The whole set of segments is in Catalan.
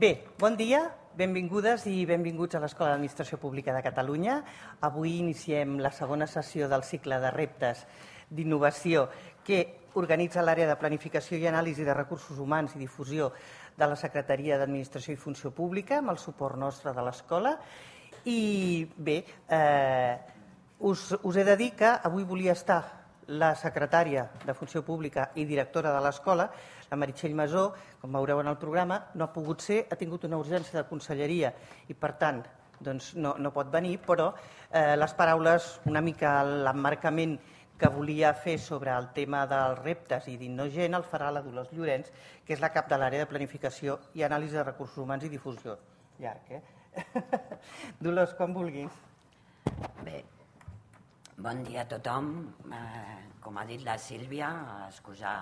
Bé, bon dia, benvingudes i benvinguts a l'Escola d'Administració Pública de Catalunya. Avui iniciem la segona sessió del cicle de reptes d'innovació que organitza l'àrea de planificació i anàlisi de recursos humans i difusió de la Secretaria d'Administració i Funció Pública amb el suport nostre de l'escola. I bé, us he de dir que avui volia estar la secretària de Funció Pública i directora de l'escola, la Meritxell Masó, com veureu en el programa, no ha pogut ser, ha tingut una urgència de conselleria i, per tant, no pot venir, però les paraules, una mica l'emmarcament que volia fer sobre el tema dels reptes i d'Innogent el farà la Dolors Llorenç, que és la cap de l'àrea de planificació i anàlisi de recursos humans i difusió. Llarg, Dolors, quan vulguis. Bé, bon dia a tothom. Com ha dit la Sílvia, excusar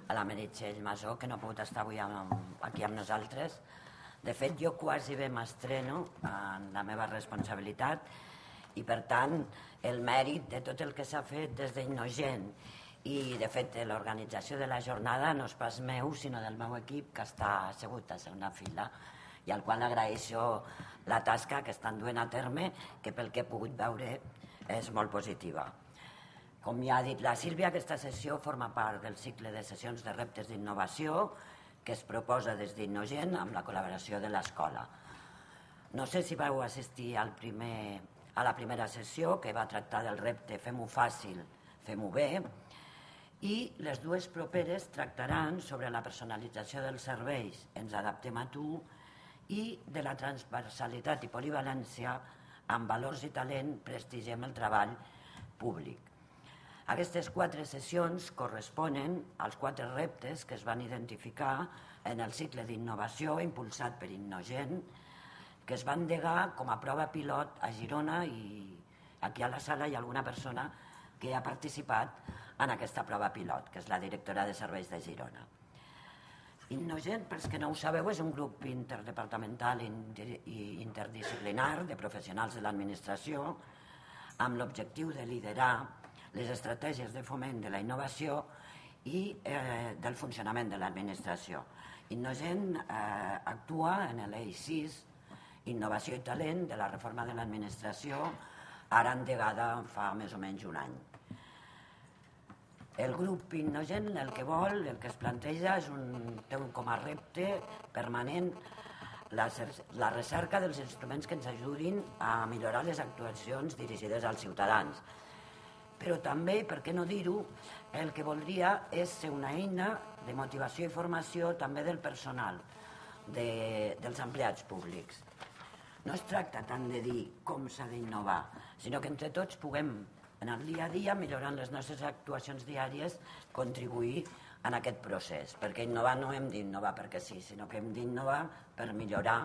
a la Meritxell Masó, que no ha pogut estar avui aquí amb nosaltres. De fet, jo quasi bé m'estreno en la meva responsabilitat i, per tant, el mèrit de tot el que s'ha fet des d'Innogent i, de fet, l'organització de la jornada no és pas meu, sinó del meu equip, que està assegut a segona fila i al qual agraeixo la tasca que estan duent a terme, que pel que he pogut veure és molt positiva. Com ja ha dit la Sílvia, aquesta sessió forma part del cicle de sessions de reptes d'innovació que es proposa des d'Innogent amb la col·laboració de l'escola. No sé si vau assistir a la primera sessió, que va tractar del repte Fem-ho fàcil, fem-ho bé, i les dues properes tractaran sobre la personalització dels serveis, ens adaptem a tu, i de la transversalitat i polivalència amb valors i talent prestigiem el treball públic. Aquestes 4 sessions corresponen als 4 reptes que es van identificar en el cicle d'innovació impulsat per Innogent, que es van endegar com a prova pilot a Girona, i aquí a la sala hi ha alguna persona que ha participat en aquesta prova pilot, que és la directora de serveis de Girona. Innogent, pels que no ho sabeu, és un grup interdepartamental i interdisciplinar de professionals de l'administració amb l'objectiu de liderar les estratègies de foment de la innovació i del funcionament de l'administració. Innogent actua en l'eix 6, Innovació i Talent, de la reforma de l'administració, ara endegada fa més o menys un any. El grup Innogent el que vol, el que es planteja, té com a repte permanent la recerca dels instruments que ens ajudin a millorar les actuacions dirigides als ciutadans. Però també, per què no dir-ho, el que voldria és ser una eina de motivació i formació també del personal, dels empleats públics. No es tracta tant de dir com s'ha d'innovar, sinó que entre tots puguem, en el dia a dia, millorant les nostres actuacions diàries, contribuir en aquest procés. Perquè innovar no hem d'innovar perquè sí, sinó que hem d'innovar per millorar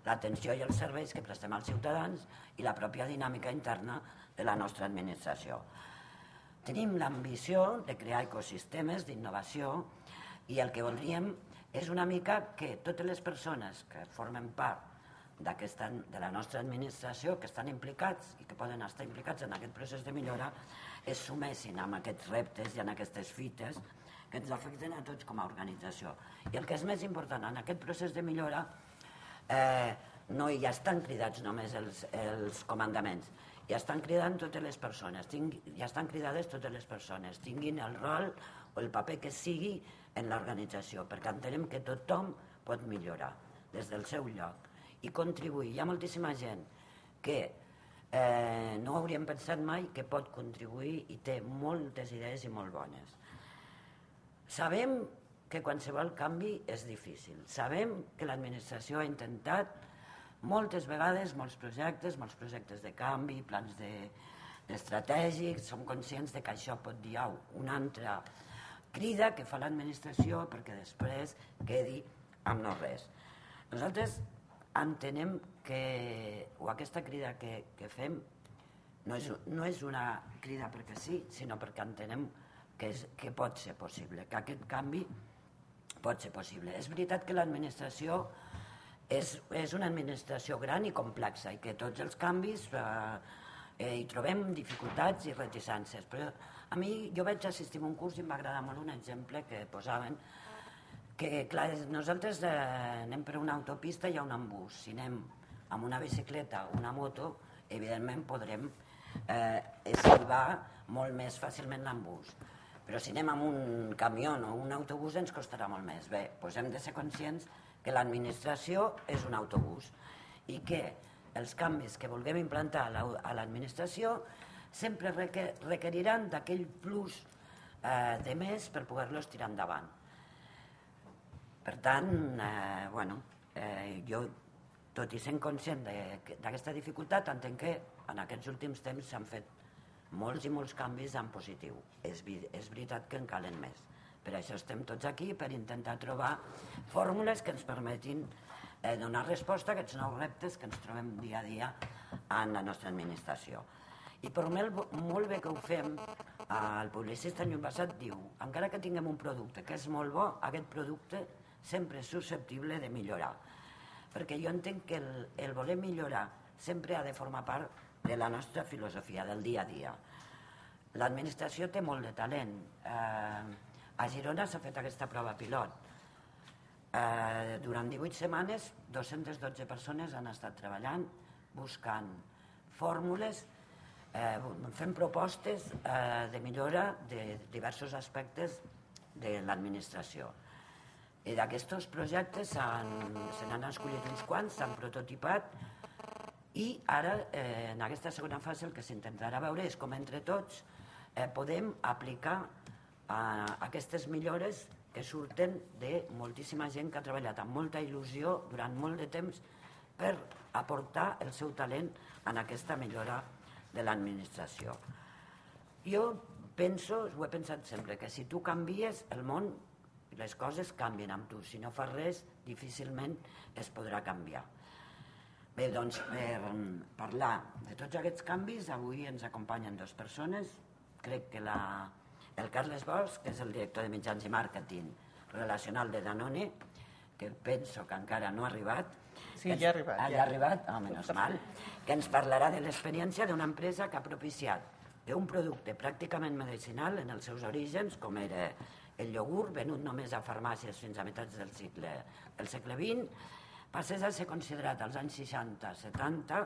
l'atenció i els serveis que prestem als ciutadans i la pròpia dinàmica interna de la nostra administració. Tenim l'ambició de crear ecosistemes d'innovació i el que voldríem és una mica que totes les persones que formen part de la nostra administració, que estan implicats i que poden estar implicats en aquest procés de millora, es sumessin amb aquests reptes i en aquestes fites que ens afecten a tots com a organització. I el que és més important en aquest procés de millora, no hi estan cridats només els comandaments, hi estan cridant totes les persones, hi estan cridades totes les persones, tinguin el rol o el paper que sigui en l'organització, perquè entenem que tothom pot millorar des del seu lloc i contribuir. Hi ha moltíssima gent que no hauríem pensat mai que pot contribuir i té moltes idees i molt bones. Sabem que qualsevol canvi és difícil. Sabem que l'administració ha intentat moltes vegades molts projectes de canvi, plans estratègics. Som conscients que això pot dir una altra crida que fa l'administració perquè després quedi amb no res. Nosaltres entenem que aquesta crida que fem no és una crida perquè sí, sinó perquè entenem que pot ser possible, que aquest canvi pot ser possible. És veritat que l'administració és una administració gran i complexa i que tots els canvis hi trobem dificultats i reticències, però jo vaig assistir a un curs i em va agradar molt un exemple que posaven Que, clar, nosaltres anem per una autopista i hi ha un embús. Si anem amb una bicicleta o una moto, evidentment podrem esquivar molt més fàcilment l'embús. Però si anem amb un camió o un autobús ens costarà molt més. Bé, doncs hem de ser conscients que l'administració és un autobús i que els canvis que vulguem implantar a l'administració sempre requeriran d'aquell plus de més per poder-los tirar endavant. Per tant, jo, tot i sent conscient d'aquesta dificultat, entenc que en aquests últims temps s'han fet molts i molts canvis en positiu. És veritat que en calen més. Per això estem tots aquí, per intentar trobar fórmules que ens permetin donar resposta a aquests nous reptes que ens trobem dia a dia en la nostra administració. I per molt bé que ho fem, el publicista Lluny Basat diu: encara que tinguem un producte que és molt bo, aquest producte sempre és susceptible de millorar. Perquè jo entenc que el voler millorar sempre ha de formar part de la nostra filosofia, del dia a dia. L'administració té molt de talent. A Girona s'ha fet aquesta prova pilot. Durant 18 setmanes, 212 persones han estat treballant, buscant fórmules, fent propostes de millora de diversos aspectes de l'administració. I d'aquests projectes se n'han escollit uns quants, s'han prototipat i ara, en aquesta segona fase, el que s'intentarà veure és com entre tots podem aplicar aquestes millores que surten de moltíssima gent que ha treballat amb molta il·lusió durant molt de temps per aportar el seu talent en aquesta millora de l'administració. Jo penso, ho he pensat sempre, que si tu canvies, el món, les coses canvien amb tu. Si no fas res, difícilment es podrà canviar. Bé, doncs, per parlar de tots aquests canvis, avui ens acompanyen dues persones. Crec que el Carles Bosch, que és el director de mitjans i màrqueting relacional de Danone, que penso que encara no ha arribat. Sí, ja ha arribat. Ja ha arribat? Menys mal. Que ens parlarà de l'experiència d'una empresa que ha propiciat que un producte pràcticament medicinal en els seus orígens, com era el iogurt, venut només a farmàcies fins a meitats del segle XX, passés a ser considerat als anys 60-70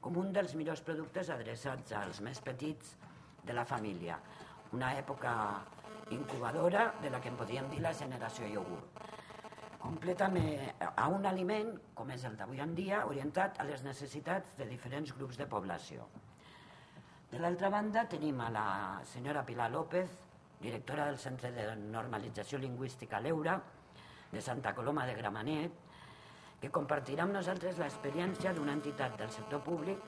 com un dels millors productes adreçats als més petits de la família. Una època incubadora de la que en podríem dir la generació iogurt. Completament a un aliment, com és el d'avui en dia, orientat a les necessitats de diferents grups de població. De l'altra banda tenim a la senyora Pilar López, directora del Centre de Normalització Lingüística l'Eura, de Santa Coloma de Gramenet, que compartirà amb nosaltres l'experiència d'una entitat del sector públic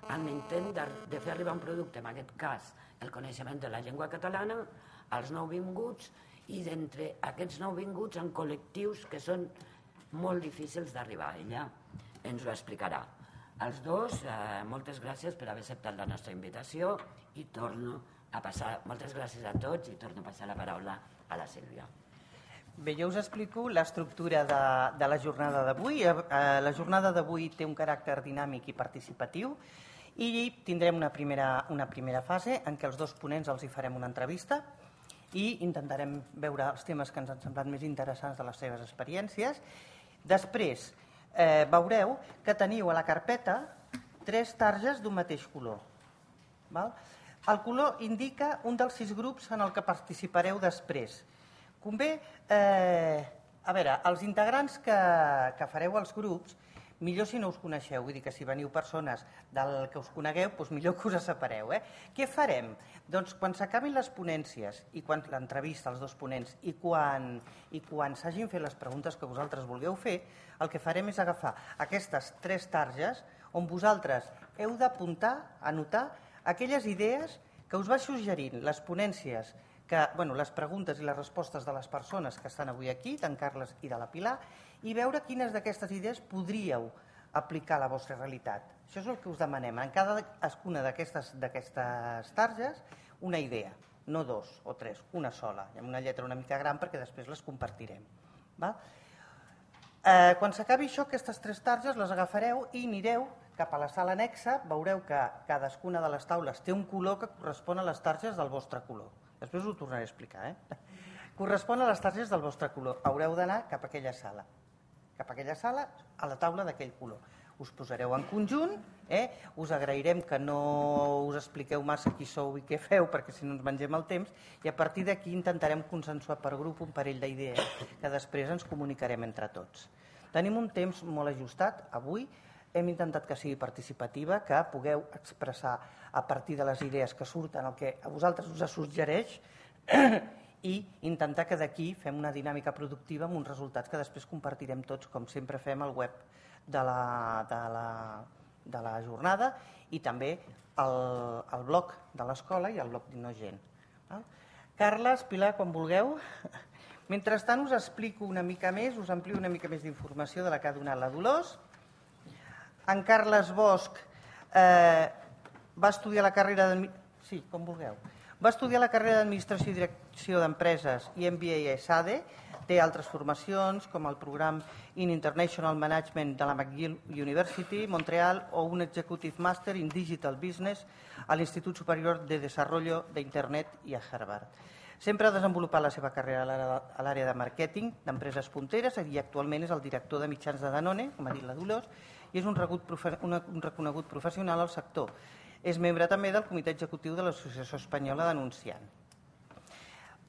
en l'intent de fer arribar un producte, en aquest cas el coneixement de la llengua catalana, als nouvinguts i d'entre aquests nouvinguts en col·lectius que són molt difícils d'arribar. Ella ens ho explicarà. Els dos, moltes gràcies per haver acceptat la nostra invitació i torno a passar, moltes gràcies a tots i torno a passar la paraula a la Sílvia. Bé, jo us explico l'estructura de la jornada d'avui. La jornada d'avui té un caràcter dinàmic i participatiu i tindrem una primera fase en què els dos ponents els hi farem una entrevista i intentarem veure els temes que ens han semblat més interessants de les seves experiències. Després veureu que teniu a la carpeta 3 targes d'un mateix color. El color indica un dels 6 grups en el que participareu després. Convé, a veure, els integrants que fareu als grups, millor si no us coneixeu, vull dir que si veniu persones del que us conegueu, doncs millor que us separeu. Què farem? Doncs quan s'acabin les ponències i quan l'entrevista als dos ponents i quan s'hagin fet les preguntes que vosaltres vulgueu fer, el que farem és agafar aquestes 3 targes on vosaltres heu d'apuntar, anotar aquelles idees que us va suggerint les ponències, les preguntes i les respostes de les persones que estan avui aquí, d'en Carles i de la Pilar, i veure quines d'aquestes idees podríeu aplicar a la vostra realitat. Això és el que us demanem. En cadascuna d'aquestes targes, una idea, no 2 o 3, una sola, amb una lletra una mica gran perquè després les compartirem. Quan s'acabi això, aquestes 3 targes les agafareu i anireu cap a la sala anexa. Veureu que cadascuna de les taules té un color que correspon a les targes del vostre color. Després ho tornaré a explicar. Correspon a les targetes del vostre color. Haureu d'anar cap a aquella sala. Cap a aquella sala, a la taula d'aquell color. Us posareu en conjunt, us agrairem que no us expliqueu massa qui sou i què feu, perquè si no ens mengem el temps, i a partir d'aquí intentarem consensuar per grup un parell d'idees que després ens comunicarem entre tots. Tenim un temps molt ajustat. Avui hem intentat que sigui participativa, que pugueu expressar a partir de les idees que surten el que a vosaltres us suggereix i intentar que d'aquí fem una dinàmica productiva amb uns resultats que després compartirem tots, com sempre fem al web de la jornada i també al blog de l'escola i al blog d'Innogent. Carles, Pilar, quan vulgueu. Mentrestant us explico una mica més, us amplio una mica més d'informació de la que ha donat la Dolors. En Carles Bosch va estudiar la carrera sí, com vulgueu. Va estudiar la carrera d'Administració i Direcció d'Empreses i MBA a ESADE. Té altres formacions, com el programa in International Management de la McGill University, Montreal, o un Executive Master in Digital Business a l'Institut Superior de Desarrollo d'Internet i a Harvard. Sempre ha desenvolupat la seva carrera a l'àrea de màrqueting d'empreses punteres i actualment és el director de mitjans de Danone, com ha dit la Dolors, i és un reconegut professional al sector. És membre també del comitè executiu de l'Associació Espanyola d'Anunciant.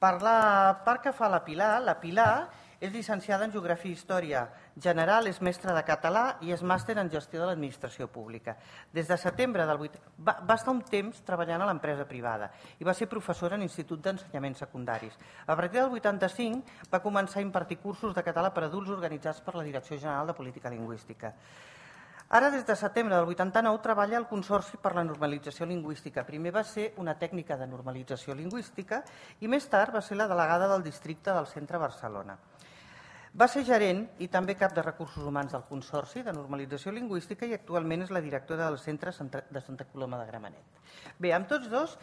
Per la part que fa la Pilar és llicenciada en Geografia i Història General, és mestra de català i és màster en Gestió de l'Administració Pública. Des de setembre del 8... Va estar un temps treballant a l'empresa privada i va ser professora en l'Institut d'Ensenyaments Secundaris. A partir del 85 va començar a impartir cursos de català per a adults organitzats per la Direcció General de Política Lingüística. Ara, des de setembre del 89, treballa al Consorci per la Normalització Lingüística. Primer va ser una tècnica de normalització lingüística i més tard va ser la delegada del districte del Centre Barcelona. Va ser gerent i també cap de recursos humans del Consorci de Normalització Lingüística i actualment és la directora del Centre de Santa Coloma de Gramenet. Bé, amb tots dos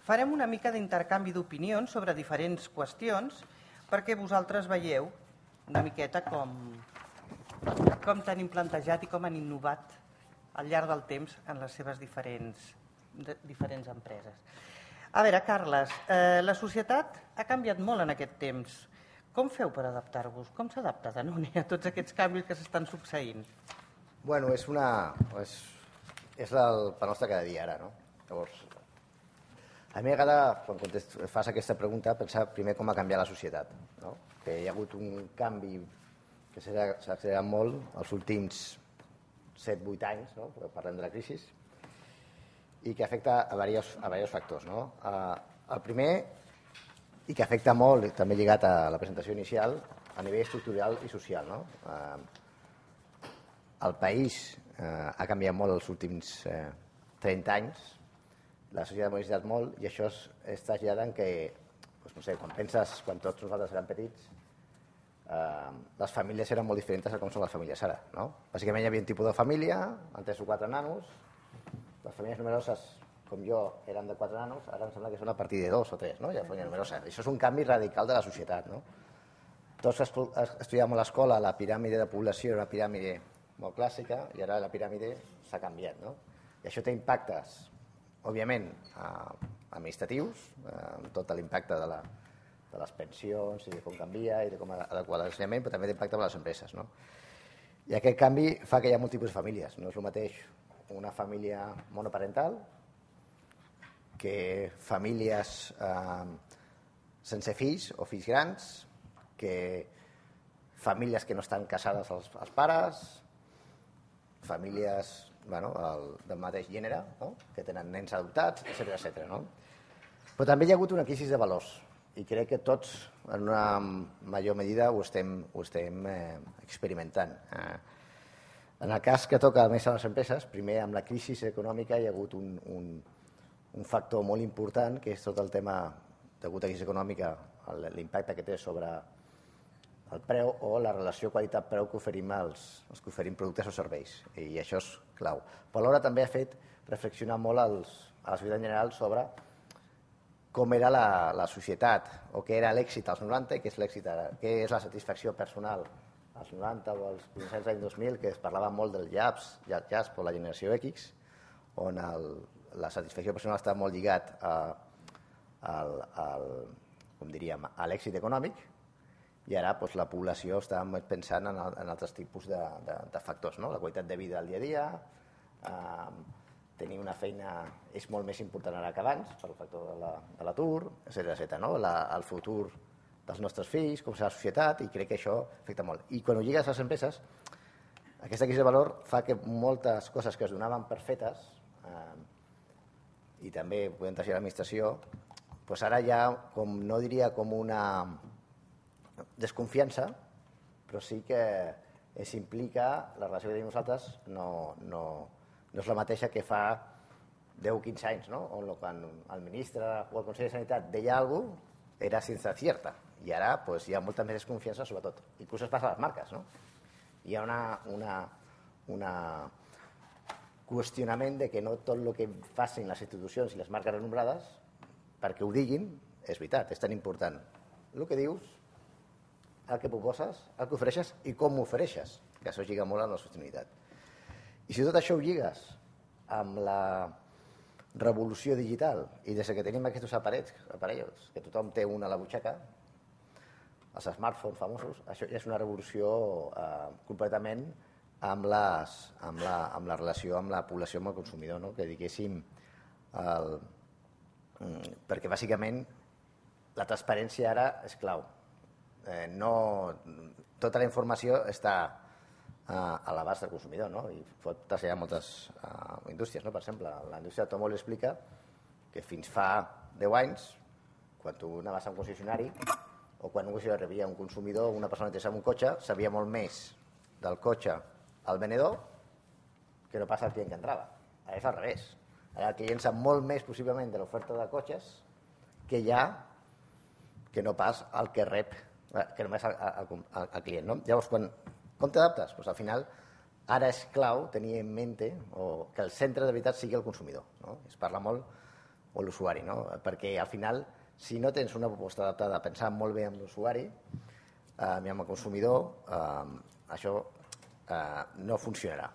farem una mica d'intercanvi d'opinions sobre diferents qüestions perquè vosaltres veieu una miqueta com tenim plantejat i com han innovat al llarg del temps en les seves diferents empreses. A veure, Carles, la societat ha canviat molt en aquest temps. Com feu per adaptar-vos? Com s'adapta Danone a tots aquests canvis que s'estan succeint? Bueno, és el pa nostre cada dia ara, no? Llavors, a mi m'agrada, quan fas aquesta pregunta, pensar primer com ha canviat la societat, no? Que hi ha hagut un canvi que s'ha accelerat molt els últims 7-8 anys, no? Parlem de la crisi, i que afecta a diversos factors, no? El primer, i que afecta molt, també lligat a la presentació inicial, a nivell estructural i social, no? El país ha canviat molt els últims 30 anys, la societat ha modificat molt, i això es trasllada en que, no sé, quan tots nosaltres érem petits, les famílies eren molt diferents a com són les famílies ara, no? Bàsicament hi havia un tipus de família, amb 3 o 4 nanos, les famílies numeroses, com jo, eren de 4 nanos, ara em sembla que són a partir de 2 o 3, no? Ja família numerosa. Això és un canvi radical de la societat, no? Tots estudiàvem a l'escola, la piràmide de població era una piràmide molt clàssica i ara la piràmide s'ha canviat, no? I això té impactes, òbviament, administratius, amb tot l'impacte de les pensions i de com canvia i de com adequar l'ensenyament, però també d'impacte per les empreses, no? I aquest canvi fa que hi ha molts tipus de famílies. No és el mateix una família monoparental que famílies sense fills o fills grans, que famílies que no estan casades els pares, famílies del mateix gènere, no? Que tenen nens adoptats, etc. No? Però també hi ha hagut una crisi de valors i crec que tots, en una major medida, ho estem experimentant. En el cas que toca més a les empreses, primer amb la crisi econòmica hi ha hagut un factor molt important, que és tot el tema, degut a la crisi econòmica, l'impacte que té sobre el preu o la relació qualitat-preu que oferim els que oferim productes o serveis. I això és clau. Però alhora també ha fet reflexionar molt a la societat en general sobre com era la societat, o què era l'èxit als 90 i què és l'èxit ara, què és la satisfacció personal als 90 o als principis dels anys 2000, que es parlava molt del JASP o la generació X, on la satisfacció personal estava molt lligat a com diríem, a l'èxit econòmic, i ara doncs, la població està pensant en altres tipus de factors, no? La qualitat de vida al dia a dia, tenir una feina és molt més important ara que abans, pel factor de l'atur, etc. No? El futur dels nostres fills, com serà la societat, i crec que això afecta molt. I quan ho lligues a les empreses, aquesta crisi de valor fa que moltes coses que es donaven per fetes, i també podem traslladar a l'administració, doncs ara hi ha, no diria com una desconfiança, però sí que s'implica, la relació que tenim nosaltres no és la mateixa que fa 10 o 15 anys, no? On quan el ministre o el Consell de Sanitat deia alguna cosa, era sense cierta, i ara hi ha molta més desconfiança, sobretot. Inclús es passa a les marques, no? Hi ha un qüestionament de que no tot el que facin les institucions i les marques renombrades, perquè ho diguin, és veritat, és tan important. El que dius, el que proposes, el que ofereixes i com ho ofereixes, que això lliga molt amb la sostenibilitat. I si tot això ho lligues amb la revolució digital i des que tenim aquests aparells, que tothom té un a la butxaca, els smartphones famosos, això ja és una revolució completament amb la relació amb la població, amb el consumidor, no? Que diguéssim, perquè bàsicament la transparència ara és clau. Tota la informació està a l'abast del consumidor, no? I pot traslladar moltes indústries, no? Per exemple, la indústria de l'automòbil explica que fins fa 10 anys, quan tu anaves a un concessionari o quan un concessionari rebia un consumidor o una persona interessada en un cotxe, sabia molt més del cotxe al venedor que no passa el client que entrava. Ara és al revés. Ara el client sap molt més possiblement de l'oferta de cotxes que hi ha que no pas el que rep, que només el client, no? Llavors, com t'adaptes? Doncs al final, ara és clau tenir en mente que el centre de veritat sigui el consumidor, no? Es parla molt, o l'usuari, no? Perquè al final, si no tens una proposta adaptada, pensant molt bé amb l'usuari i amb el consumidor, això no funcionarà.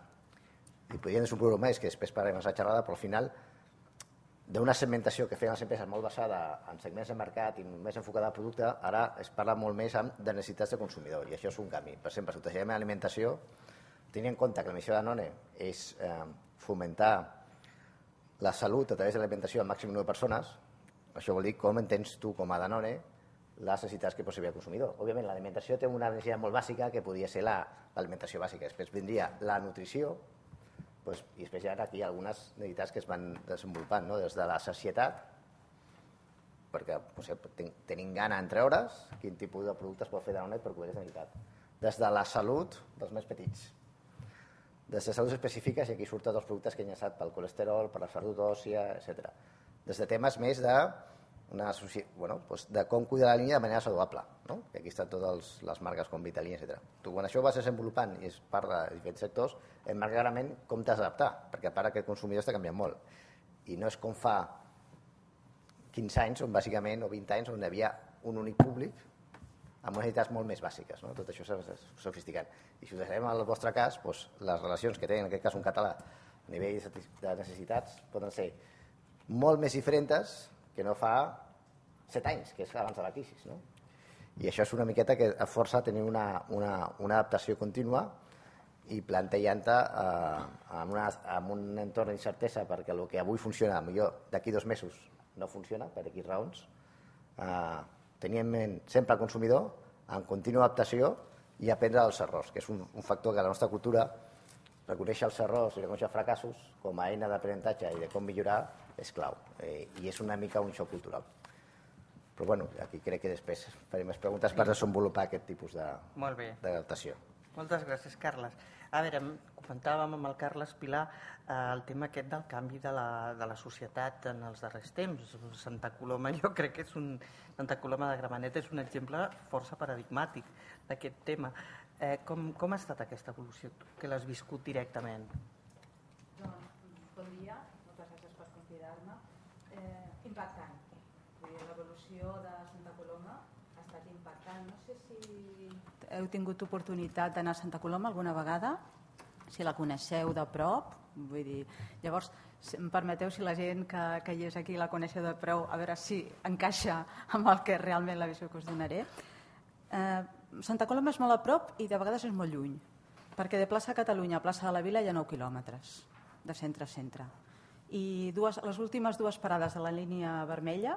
I podríem desenvolupar més, que després parlarem de la xerrada, però al final, d'una segmentació que feien les empreses molt basada en segments de mercat i més enfocada al producte, ara es parla molt més de necessitats de consumidor, i això és un canvi. Per exemple, si ho traslladem a l'alimentació, tenint en compte que la missió de Danone és fomentar la salut a través de l'alimentació al màxim número de persones, això vol dir com entens tu com a Danone les necessitats que pot servir al consumidor. Òbviament, l'alimentació té una necessitat molt bàsica que podria ser l'alimentació bàsica. Després vindria la nutrició, i després hi ha aquí algunes necessitats que es van desenvolupant, no? Des de la sacietat, perquè tenim gana entre hores, quin tipus de productes pot fer Danone per cobrir aquesta necessitat. Des de la salut dels més petits, des de salut específiques, i aquí surten els productes que he enllaçat pel colesterol, per la salut òssia, etc. Des de temes més de com cuidar la línia de manera saludable, no? Que aquí estan totes les marques com Vitalina, etc. Tu, quan això ho vas desenvolupant i es parla de diferents sectors, et marca clarament com t'has d'adaptar, perquè a part aquest consumidor està canviant molt. I no és com fa 15 anys, on bàsicament, o 20 anys, on hi havia un únic públic amb unes necessitats molt més bàsiques, no? Tot això s'ha sofisticat. I si ho deixarem al vostre cas, les relacions que tenen, en aquest cas un català, a nivell de necessitats, poden ser molt més diferents que no fa 7 anys, que és abans de la crisi, no? I això és una miqueta que força a tenir una adaptació contínua i plantejant-te en un entorn d'incertesa, perquè el que avui funciona, millor d'aquí 2 mesos no funciona, per X raons, tenir en ment sempre el consumidor en contínua adaptació i aprendre dels errors, que és un factor que a la nostra cultura, reconèixer els errors i reconèixer els fracassos com a eina d'aprenentatge i de com millorar és clau, i és una mica un xoc cultural. Però bueno, aquí crec que després farem més preguntes per desenvolupar aquest tipus d'adaptació. Moltes gràcies, Carles. A veure, comentàvem amb el Carles Pilar el tema aquest del canvi de la societat en els darrers temps. Santa Coloma, jo crec que Santa Coloma de Gramenet és un exemple força paradigmàtic d'aquest tema. Com ha estat aquesta evolució, que l'has viscut directament? Doncs, bon dia, moltes gràcies per convidar-me. Impactant. L'evolució de Santa Coloma ha estat impactant. No sé si heu tingut oportunitat d'anar a Santa Coloma alguna vegada. si la coneixeu de prop, vull dir, llavors, em permeteu, si la gent que hi és aquí la coneixeu de prop, a veure si encaixa amb el que realment la visió que us donaré. Santa Coloma és molt a prop i de vegades és molt lluny, perquè de plaça Catalunya a plaça de la Vila hi ha 9 quilòmetres de centre a centre. I les últimes 2 parades de la línia vermella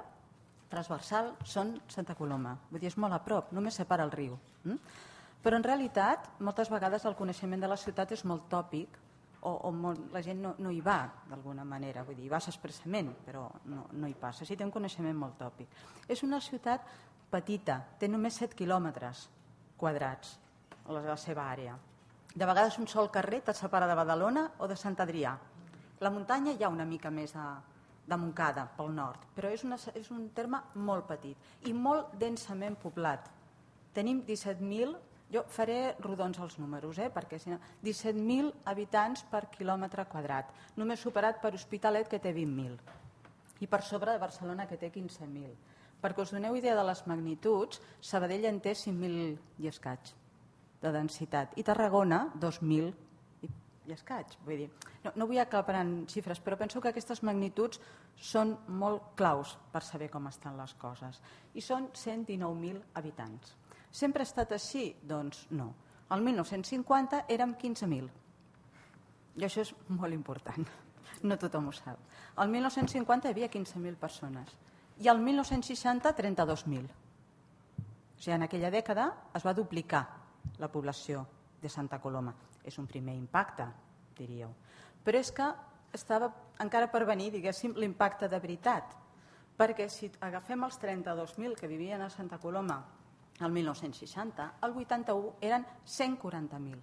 transversal són Santa Coloma. Vull dir, és molt a prop, només separa el riu. Però en realitat, moltes vegades el coneixement de la ciutat és molt tòpic o la gent no hi va d'alguna manera. Vull dir, hi vas expressament, però no hi passa. Sí, té un coneixement molt tòpic. És una ciutat petita, té només 7 quilòmetres quadrats a la seva àrea. De vegades un sol carrer et separa de Badalona o de Sant Adrià. La muntanya hi ha una mica més de Montcada, pel nord, però és un terme molt petit i molt densament poblat. Tenim 17.000, jo faré rodons els números, perquè si no, 17.000 habitants per quilòmetre quadrat, només superat per Hospitalet, que té 20.000, i per sobre de Barcelona, que té 15.000. Perquè us doneu idea de les magnituds, Sabadell en té 5.000 i escaig de densitat, i Tarragona 2.000 i escaig. Vull dir, no vull aclaparar en xifres, però penso que aquestes magnituds són molt claus per saber com estan les coses. I són 119.000 habitants. Sempre ha estat així? Doncs no. El 1950 érem 15.000. I això és molt important. No tothom ho sap. El 1950 hi havia 15.000 persones. I el 1960, 32.000. O sigui, en aquella dècada es va duplicar la població de Santa Coloma. És un primer impacte, diríeu. Però és que estava encara per venir, diguéssim, l'impacte de veritat. Perquè si agafem els 32.000 que vivien a Santa Coloma el 1960, el 81 eren 140.000.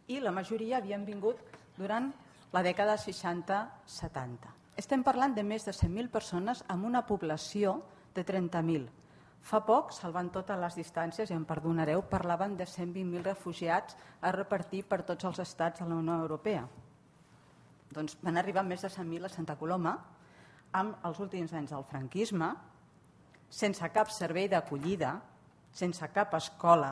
I la majoria havien vingut durant la dècada 60-70. Estem parlant de més de 100.000 persones amb una població de 30.000. Fa poc, salvant totes les distàncies, i em perdonareu, parlaven de 120.000 refugiats a repartir per tots els estats de la Unió Europea. Doncs van arribar més de 100.000 a Santa Coloma amb els últims anys del franquisme, sense cap servei d'acollida, sense cap escola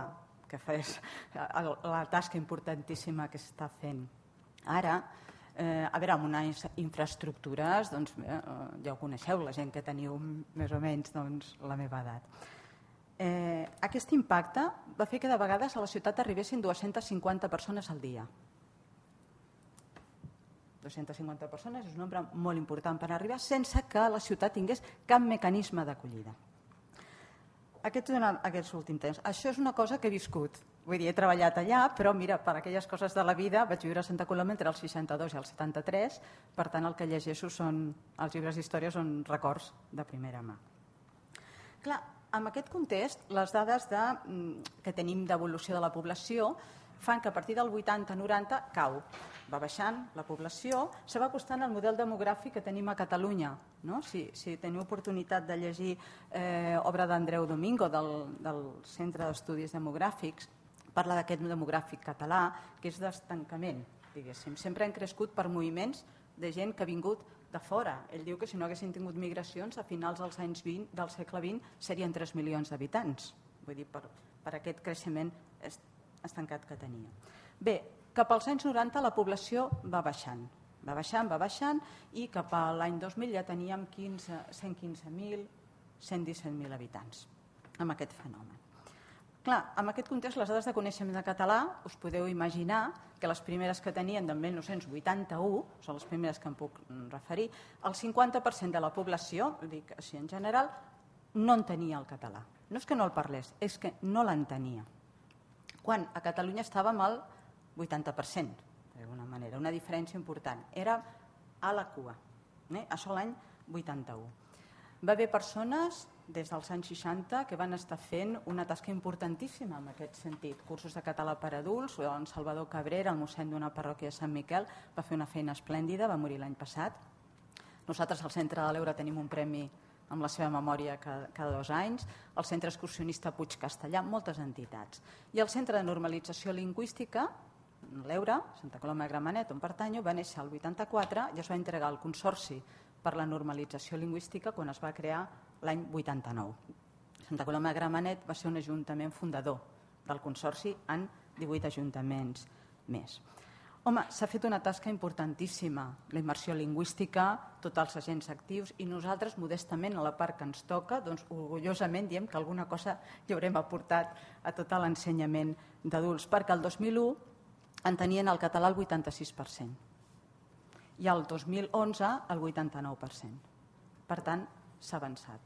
que fes la tasca importantíssima que s'està fent ara. A veure, amb unes infraestructures, doncs, ja ho coneixeu, la gent que teniu més o menys la meva edat. Aquest impacte va fer que de vegades a la ciutat arribessin 250 persones al dia. 250 persones és un nombre molt important per arribar sense que la ciutat tingués cap mecanisme d'acollida. Aquests últims temps. Això és una cosa que he viscut. Vull dir, he treballat allà, però mira, per aquelles coses de la vida vaig viure a Santa Coloma entre el 62 i el 73, per tant el que llegeixo els llibres d'història són records de primera mà. Clar, en aquest context, les dades que tenim d'evolució de la població fan que a partir del 80-90 cau, va baixant la població, se va acostant al model demogràfic que tenim a Catalunya. Si teniu oportunitat de llegir obra d'Andreu Domingo del Centre d'Estudis Demogràfics, parla d'aquest demogràfic català, que és d'estancament, diguéssim. Sempre han crescut per moviments de gent que ha vingut de fora. Ell diu que si no haguessin tingut migracions, a finals dels anys 20 del segle XX serien 3 milions d'habitants. Vull dir, per aquest creixement estancat que tenia. Bé, cap als anys 90 la població va baixant. Va baixant i cap a l'any 2000 ja teníem 115.000, 117.000 habitants amb aquest fenomen. Clar, en aquest context, les dades de coneixement de català, us podeu imaginar que les primeres que tenien del 1981, són les primeres que em puc referir, el 50% de la població, dic així en general, no entenia el català. No és que no el parlés, és que no l'entenia. Quan a Catalunya estàvem al 80%, d'alguna manera, una diferència important. Era a la cua, això l'any 81. Va haver persones des dels anys 60 que van estar fent una tasca importantíssima en aquest sentit. Cursos de català per adults, en Salvador Cabrera, el mossèn d'una parròquia de Sant Miquel, va fer una feina esplèndida, va morir l'any passat. Nosaltres al Centre de l'Eure tenim un premi amb la seva memòria cada 2 anys, el Centre Excursionista Puig Castellà, moltes entitats. I el Centre de Normalització Lingüística, l'Eure, Santa Coloma de Gramenet, on pertanyo, va néixer el 84 i es va entregar al Consorci per la Normalització Lingüística quan es va crear l'any 89. Santa Coloma de Gramenet va ser un ajuntament fundador del Consorci en 18 ajuntaments més. Home, s'ha fet una tasca importantíssima, la immersió lingüística, tots els agents actius, i nosaltres, modestament, a la part que ens toca, doncs, orgullosament diem que alguna cosa hi haurem aportat a tot l'ensenyament d'adults, perquè el 2001 en tenien el català el 86% i el 2011 el 89%. Per tant, s'ha avançat.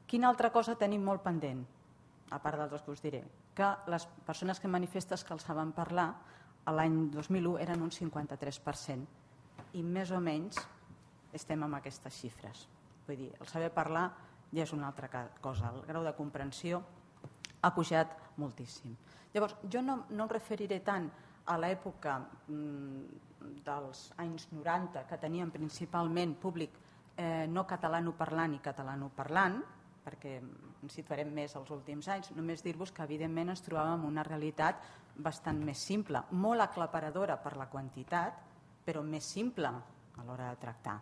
Quina altra cosa tenim molt pendent? A part dels que us diré, que les persones que manifestes que el saben parlar l'any 2001 eren un 53% i més o menys estem amb aquestes xifres. Vull dir, el saber parlar ja és una altra cosa. El grau de comprensió ha pujat moltíssim. Llavors, jo no em referiré tant a l'època dels anys 90, que teníem principalment públic no catalanoparlant i catalanoparlant, perquè ens situarem més als últims anys, només dir-vos que evidentment ens trobàvem una realitat bastant més simple, molt aclaparadora per la quantitat, però més simple a l'hora de tractar,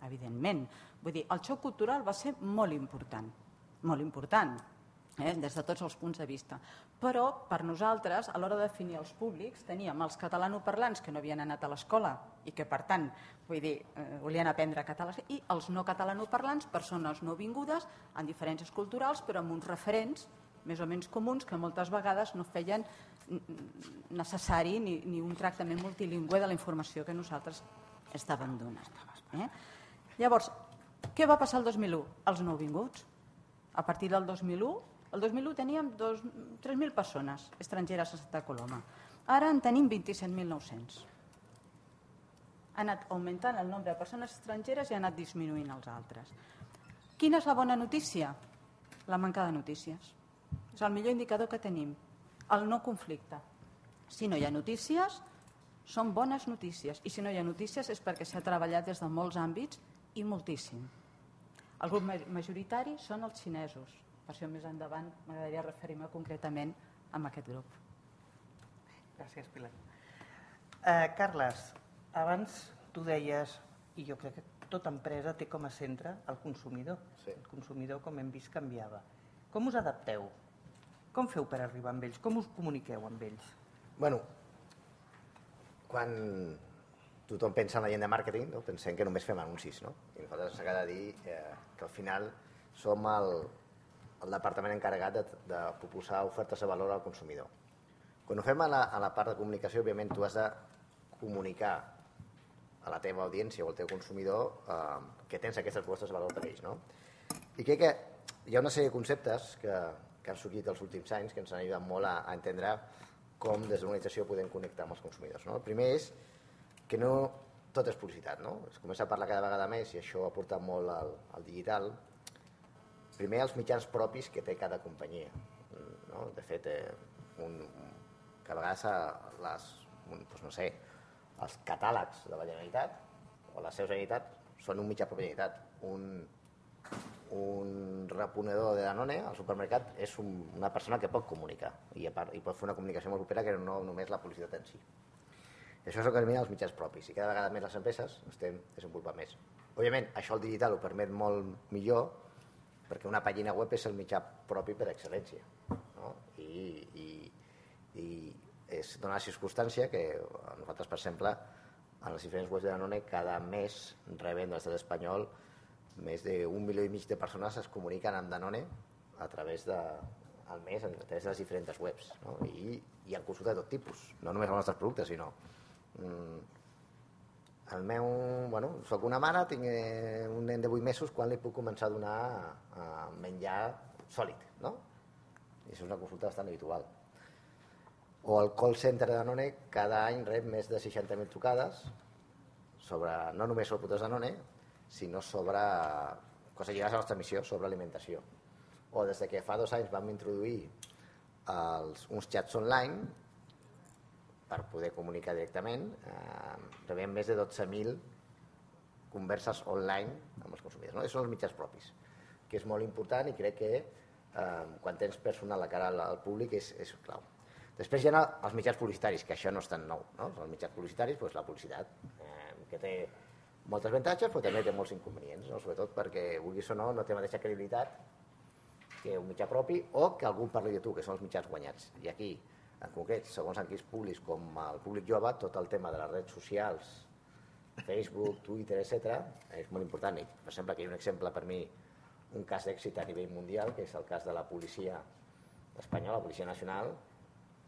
evidentment. Vull dir, el xoc cultural va ser molt important, des de tots els punts de vista. Però per nosaltres, a l'hora de definir els públics, teníem els catalanoparlants que no havien anat a l'escola i que, per tant, volien aprendre català, i els no catalanoparlants, persones no vingudes, en diferències culturals, però amb uns referents més o menys comuns que moltes vegades no feien necessari ni un tractament multilingüe de la informació que nosaltres estàvem donant. Llavors, què va passar el 2001? Els nouvinguts. A partir del 2001, el 2001 teníem 3.000 persones estrangeres a Santa Coloma. Ara en tenim 27.900. Ha anat augmentant el nombre de persones estrangeres i ha anat disminuint els altres. Quina és la bona notícia? La manca de notícies. És el millor indicador que tenim. El no conflicte. Si no hi ha notícies, són bones notícies. I si no hi ha notícies és perquè s'ha treballat des de molts àmbits i moltíssim. El grup majoritari són els xinesos. Per això més endavant m'agradaria referir-me concretament a aquest grup. Gràcies, Pilar. Carles, abans tu deies, i jo crec que tota empresa té com a centre el consumidor. Sí. El consumidor, com hem vist, canviava. Com us adapteu? Com feu per arribar amb ells? Com us comuniqueu amb ells? Bueno, quan tothom pensa en la gent de màrqueting, no? Pensem que només fem anuncis, no? I nosaltres s'ha de dir que al final som el departament encarregat de proposar ofertes de valor al consumidor. Quan ho fem a la part de comunicació, òbviament tu has de comunicar a la teva audiència o al teu consumidor que tens aquestes propostes de valor per ells, no? I crec que hi ha una sèrie de conceptes que han sorgit els últims anys que ens han ajudat molt a entendre com des de l'organització podem connectar amb els consumidors, no? El primer és que no tot és publicitat, no? Es comença a parlar cada vegada més, i això ha portat molt al digital. Primer, els mitjans propis que té cada companyia, no? De fet, que a vegades els catàlegs de la Generalitat o la seu Generalitat són un mitjà propi de la Generalitat. Un reponedor de Danone al supermercat és una persona que pot comunicar i pot fer una comunicació molt propera que no només la publicitat en si. Això és el que denomina els mitjans propis, i cada vegada més les empreses estem desenvolupant més. Òbviament, això el digital ho permet molt millor, perquè una pàgina web és el mitjà propi per excel·lència, no? I es dona la circumstància que nosaltres, per exemple, en les diferents webs de Danone, cada mes rebem de l'estat espanyol més d'1,5 milió de persones es comuniquen amb Danone a través del mes, a través de les diferents webs, no? I hi ha consulta de tot tipus, no només els nostres productes, sinó soc una mare, tinc un nen de 8 mesos, quan li puc començar a donar menjar sòlid, no? I això és una consulta bastant habitual. O el call center de Danone cada any rep més de 60.000 trucades no només sobre productes Danone, sinó sobre coses lligades a la nostra missió, sobre alimentació. O des que fa 2 anys vam introduir uns xats online per poder comunicar directament, rebem més de 12.000 converses online amb els consumidors, no? Aquests són els mitjans propis, que és molt important, i crec que quan tens personal a cara al públic és clau. Després hi ha els mitjans publicitaris, que això no és tan nou, no? Els mitjans publicitaris, doncs la publicitat, que té molts avantatges, però també té molts inconvenients, no? Sobretot perquè, vulguis o no té la mateixa credibilitat que un mitjà propi o que algú parli de tu, que són els mitjans guanyats. I aquí En concret, segons enquistes públics com el públic jove, tot el tema de les redes socials, Facebook, Twitter, etc., és molt important. I, per exemple, aquí hi ha un exemple per mi, un cas d'èxit a nivell mundial, que és el cas de la policia espanyola, la Policia Nacional,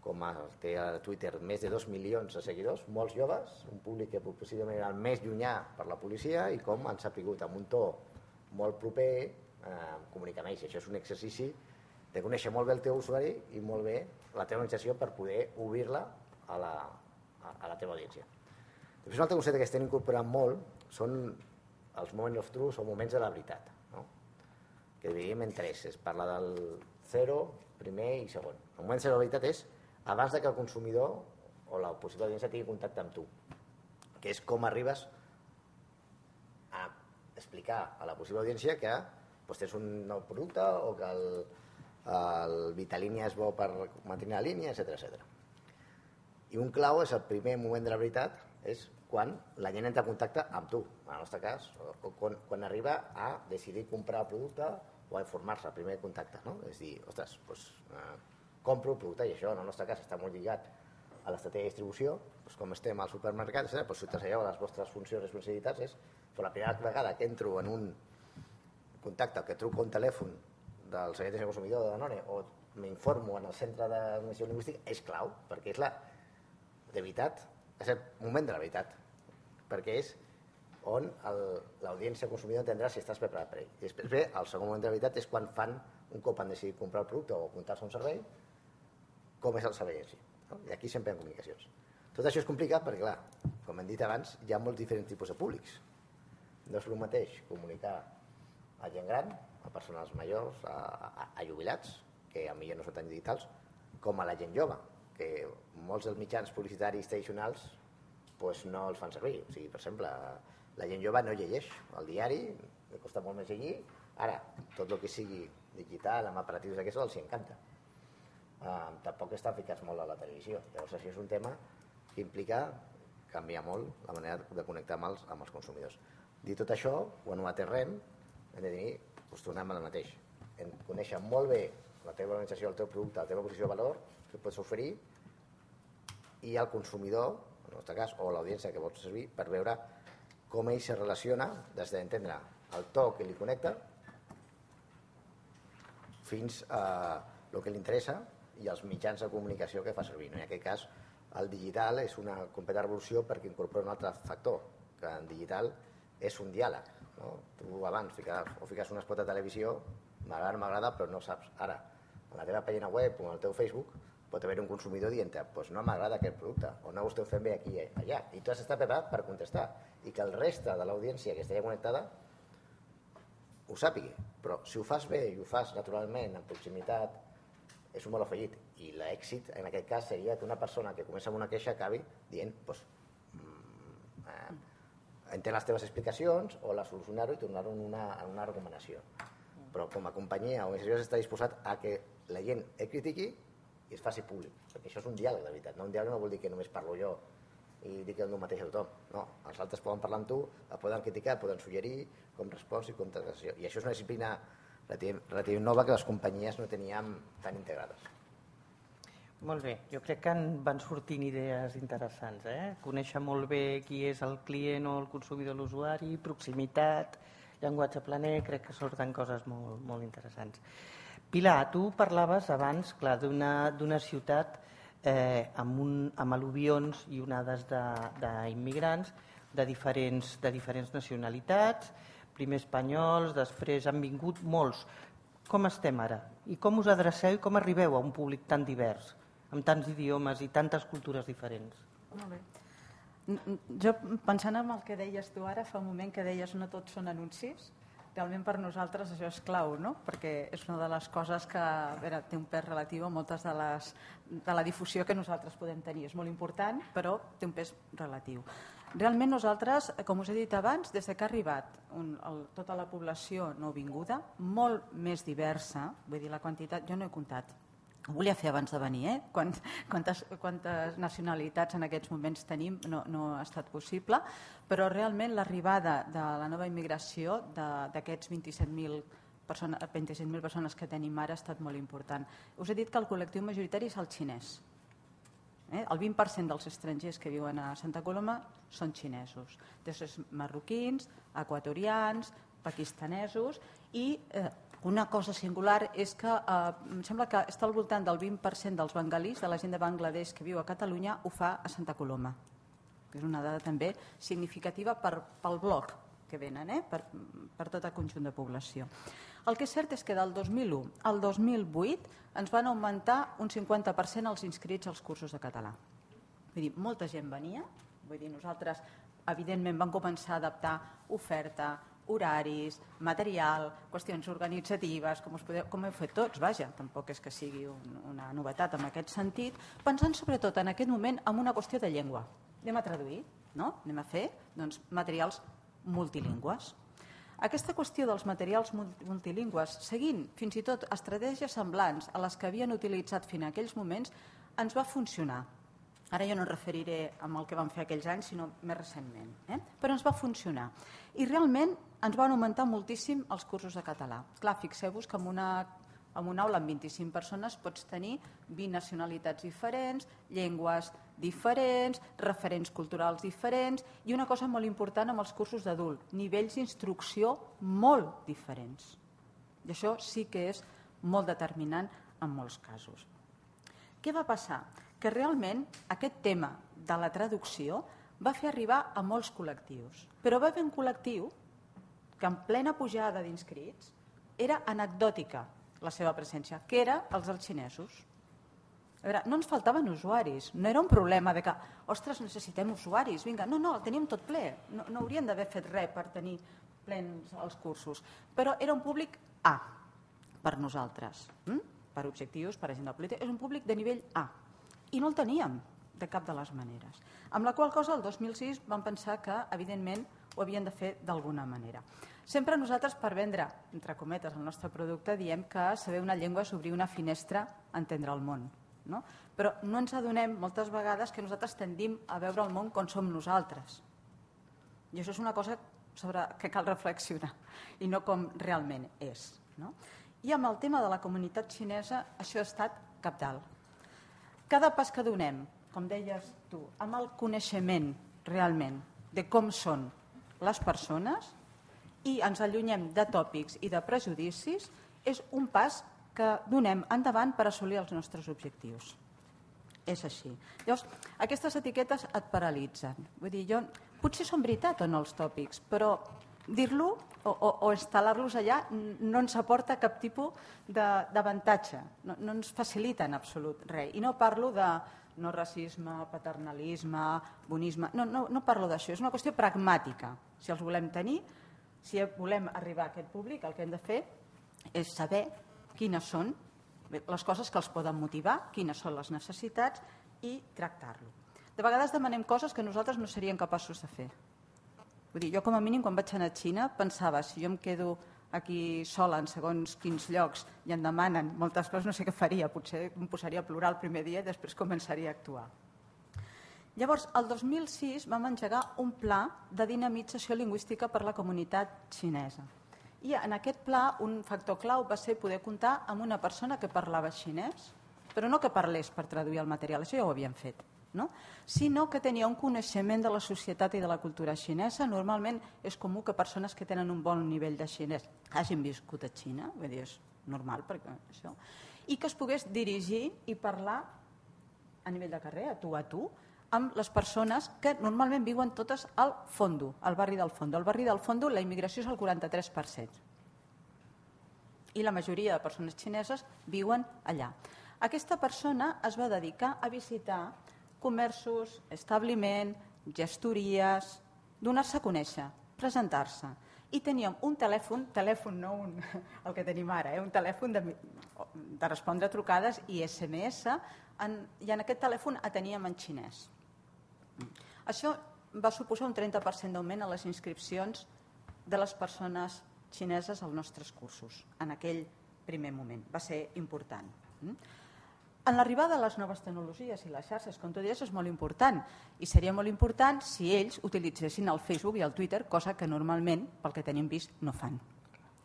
com té a Twitter més de 2 milions de seguidors, molts joves, un públic que possiblement era el més llunyà per la policia, i com han sapigut amb un to molt proper comunicar amb ells. Això és un exercici de conèixer molt bé el teu usuari i molt bé la teva organització per poder obrir-la a la teva audiència. Després, un altre concepte que estem incorporant molt són els moments of truth o moments de la veritat, no? Que dividim en tres. Es parla del zero, primer i segon. El moment de la veritat és abans que el consumidor o la possible audiència tingui contacte amb tu, que és com arribes a explicar a la possible audiència que tens un nou producte o que el Vitalínia és bo per mantenir la línia, etc. I un clau és el primer moment de la veritat, és quan la gent entra en contacte amb tu, en el nostre cas, o quan arriba a decidir comprar el producte o a informar-se, el primer contacte, no? És dir, ostres, compro el producte, i això en el nostre cas està molt lligat a l'estratègia de distribució, com estem al supermercat, si traslladeu les vostres funcions i responsabilitats, és la primera vegada que entro en un contacte o que truco un telèfon del Servei d'Atenció al Consumidor de Danone o m'informo en el centre d'administració lingüística, és clau, perquè és de veritat, és el moment de la veritat, perquè és on l'audiència consumidor entendrà si estàs preparat per ell. I després ve, el segon moment de la veritat és quan fan, un cop han decidit comprar el producte o apuntar-se a un servei, com és el servei en si. I aquí sempre hi ha comunicacions. Tot això és complicat perquè, clar, com hem dit abans, hi ha molts diferents tipus de públics. No és el mateix comunicar a gent gran, a persones majors, a jubilats, que potser no són tan digitals, com a la gent jove, que molts dels mitjans publicitaris tradicionals no els fan servir. O sigui, per exemple, la gent jove no llegeix el diari, li costa molt més llegir. Ara, tot el que sigui digital, amb aparatius d'aquests, els encanta. Tampoc estan ficats molt a la televisió. Llavors, això és un tema que implica canviar molt la manera de connectar amb els consumidors. Dit tot això, quan ho aterrem, hem de dir, tornem al mateix. Conèixer molt bé la teva organització, el teu producte, la teva posició de valor, que pots oferir, i el consumidor, en el nostre cas, o l'audiència que vols servir, per veure com ell se relaciona des d'entendre el to que li connecta fins a el que li interessa i els mitjans de comunicació que fa servir. En aquest cas, el digital és una completa revolució perquè incorpora un altre factor, que en digital és un diàleg. Tu abans fiques un spot de televisió, m'agrada, però no saps. Ara, a la teva pàgina web o al teu Facebook pot haver un consumidor dient no m'agrada aquest producte, o no ho esteu fent bé aquí i allà. I tu has d'estar preparat per contestar i que el reste de l'audiència que estaria connectada ho sàpigui. Però si ho fas bé i ho fas naturalment, en proximitat, és un molt afegit. I l'èxit, en aquest cas, seria que una persona que comença amb una queixa acabi dient entén les teves explicacions o la solucionar-ho i tornar-ho en una recomanació. Però com a companyia o organització està disposat a que la gent et critiqui i es faci públic, perquè això és un diàleg de veritat. Un diàleg no vol dir que només parlo jo i dic el mateix a tothom. No, els altres poden parlar amb tu, el poden criticar, poden suggerir com respons i com tractació. I això és una disciplina relativament nova que les companyies no teníem tan integrades. Molt bé, jo crec que van sortint idees interessants. Conèixer molt bé qui és el client o el consumidor, l'usuari, proximitat, llenguatge planer, crec que surten coses molt, molt interessants. Pilar, tu parlaves abans, clar, d'una ciutat amb al·luvions i onades d'immigrants de diferents nacionalitats, primer espanyols, després han vingut molts. Com estem ara? I com us adreceu i com arribeu a un públic tan divers, amb tants idiomes i tantes cultures diferents? Molt bé. Jo, pensant en el que deies tu ara, fa un moment que deies no tots són anuncis, realment per nosaltres això és clau, no? Perquè és una de les coses que té un pes relatiu a moltes de la difusió que nosaltres podem tenir. És molt important, però té un pes relatiu. Realment nosaltres, com us he dit abans, des que ha arribat tota la població nouvinguda, molt més diversa, vull dir, la quantitat, jo no he comptat, ho volia fer abans de venir, quantes nacionalitats en aquests moments tenim, no ha estat possible, però realment l'arribada de la nova immigració d'aquests 27.000 persones que tenim ara ha estat molt important. Us he dit que el col·lectiu majoritari és el xinès. El 20% dels estrangers que viuen a Santa Coloma són xinesos, després marroquins, equatorians, pakistanesos, i una cosa singular és que em sembla que està al voltant del 20% dels bengalís, de la gent de Bangladesh que viu a Catalunya, ho fa a Santa Coloma. És una dada també significativa pel bloc que venen, per tot el conjunt de població. El que és cert és que del 2001 al 2008 ens van augmentar un 50% els inscrits als cursos de català. Vull dir, molta gent venia, nosaltres evidentment vam començar a adaptar oferta, horaris, material, qüestions organitzatives, com heu fet tots, vaja, tampoc és que sigui una novetat en aquest sentit, pensant sobretot en aquest moment en una qüestió de llengua. Anem a traduir, no? Anem a fer materials multilingües. Aquesta qüestió dels materials multilingües, seguint fins i tot estratègies semblants a les que havien utilitzat fins a aquells moments, ens va funcionar. Ara jo no em referiré amb el que vam fer aquells anys, sinó més recentment. Però ens va funcionar. I realment ens van augmentar moltíssim els cursos de català. Clar, fixeu-vos que en una aula amb 25 persones pots tenir 20 nacionalitats diferents, llengües diferents, referents culturals diferents i una cosa molt important amb els cursos d'adult, nivells d'instrucció molt diferents. I això sí que és molt determinant en molts casos. Què va passar? Que realment aquest tema de la traducció va fer arribar a molts col·lectius, però va haver un col·lectiu que en plena pujada d'inscrits era anecdòtica la seva presència, que era els dels xinesos. A veure, no ens faltaven usuaris, no era un problema de que, ostres, necessitem usuaris, vinga, no, el teníem tot ple, no haurien d'haver fet res per tenir plens els cursos, però era un públic A per nosaltres, per objectius, per agenda política, és un públic de nivell A, i no el teníem de cap de les maneres. Amb la qual cosa, el 2006 vam pensar que, evidentment, ho havien de fer d'alguna manera. Sempre nosaltres, per vendre, entre cometes, el nostre producte, diem que saber una llengua és obrir una finestra a entendre el món. No? Però no ens adonem moltes vegades que nosaltres tendim a veure el món com som nosaltres. I això és una cosa sobre que cal reflexionar i no com realment és. No? I amb el tema de la comunitat xinesa això ha estat cabdal. Cada pas que donem, com deies tu, amb el coneixement realment de com són les persones i ens allunyem de tòpics i de prejudicis, és un pas que donem endavant per assolir els nostres objectius. És així. Llavors, aquestes etiquetes et paralitzen. Vull dir, potser són veritat o no els tòpics, però dir-lo o instal·lar-los allà no ens aporta cap tipus d'avantatge, no ens facilita en absolut res. I no parlo de no racisme, paternalisme, bonisme, no parlo d'això, és una qüestió pragmàtica. Si els volem tenir, si volem arribar a aquest públic, el que hem de fer és saber quines són les coses que els poden motivar, quines són les necessitats i tractar-lo. De vegades demanem coses que nosaltres no seríem capaços de fer. Vull dir, jo com a mínim quan vaig anar a Xina pensava, si jo em quedo aquí sola en segons quins llocs i em demanen moltes coses, no sé què faria, potser em posaria a plorar el primer dia i després començaria a actuar. Llavors, el 2006 vam engegar un pla de dinamització lingüística per la comunitat xinesa. I en aquest pla un factor clau va ser poder comptar amb una persona que parlava xinès, però no que parlés per traduir el material, això ja ho havíem fet, no? Sinó que tenia un coneixement de la societat i de la cultura xinesa. Normalment és comú que persones que tenen un bon nivell de xinès hagin viscut a Xina, vull dir, és normal, perquè això, i que es pogués dirigir i parlar a nivell de carrer, a tu, amb les persones que normalment viuen totes al Fondo, al barri del Fondo. Al barri del Fondo la immigració és el 43%. I la majoria de persones xineses viuen allà. Aquesta persona es va dedicar a visitar comerços, establiment, gestories, donar-se a conèixer, presentar-se. I teníem un telèfon no el que tenim ara, un telèfon de respondre trucades i SMS, i en aquest telèfon ateníem en xinès. Això va suposar un 30% d'augment a les inscripcions de les persones xineses als nostres cursos en aquell primer moment. Va ser important. En l'arribada de les noves tecnologies i les xarxes, com tu deies, és molt important. I seria molt important si ells utilitzessin el Facebook i el Twitter, cosa que normalment, pel que tenim vist, no fan.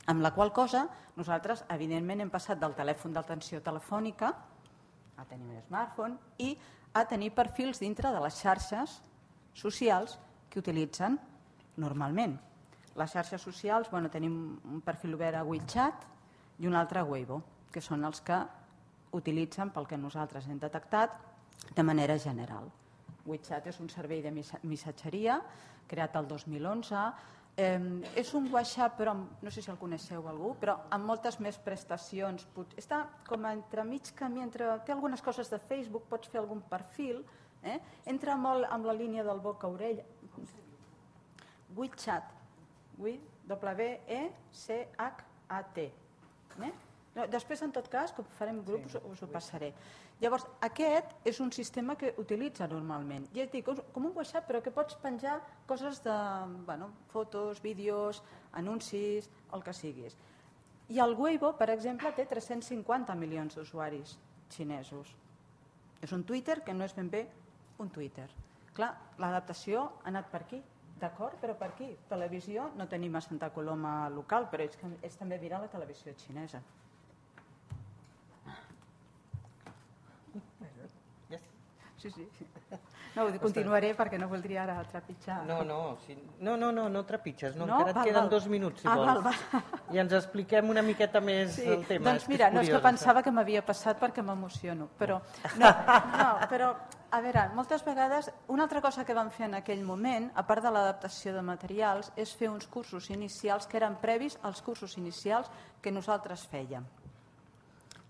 Amb la qual cosa, nosaltres, evidentment, hem passat del telèfon d'atenció telefònica a tenir un smartphone i a tenir perfils dintre de les xarxes socials que utilitzen normalment. Les xarxes socials, tenim un perfil obert a WeChat i un altre a Weibo, que són els que utilitzen pel que nosaltres hem detectat de manera general. WeChat és un servei de missatgeria creat el 2011. És un WhatsApp, però no sé si el coneixeu algú, però amb moltes més prestacions. Està com entremig camí, té algunes coses de Facebook, pots fer algun perfil, entra molt amb la línia del boca a orella. WeChat, W-E-C-H-A-T. Després, en tot cas, com farem grups, us ho passaré. Llavors, aquest és un sistema que utilitza normalment. Ja et dic, com un WhatsApp, però que pots penjar coses de fotos, vídeos, anuncis, el que siguis. I el Weibo, per exemple, té 350 milions d'usuaris xinesos. És un Twitter que no és ben bé un Twitter. Clar, l'adaptació ha anat per aquí. D'acord, però per aquí. Televisió no tenim a Santa Coloma local, però és també mirar la televisió xinesa. Sí. No, continuaré perquè no voldria ara trepitjar. No trepitges, encara et queden 2 minuts, si vols. I ens expliquem una miqueta més el tema. Doncs mira, no és que pensava que m'havia passat perquè m'emociono, però a veure, moltes vegades, una altra cosa que vam fer en aquell moment, a part de l'adaptació de materials, és fer uns cursos inicials que eren previs als cursos inicials que nosaltres fèiem.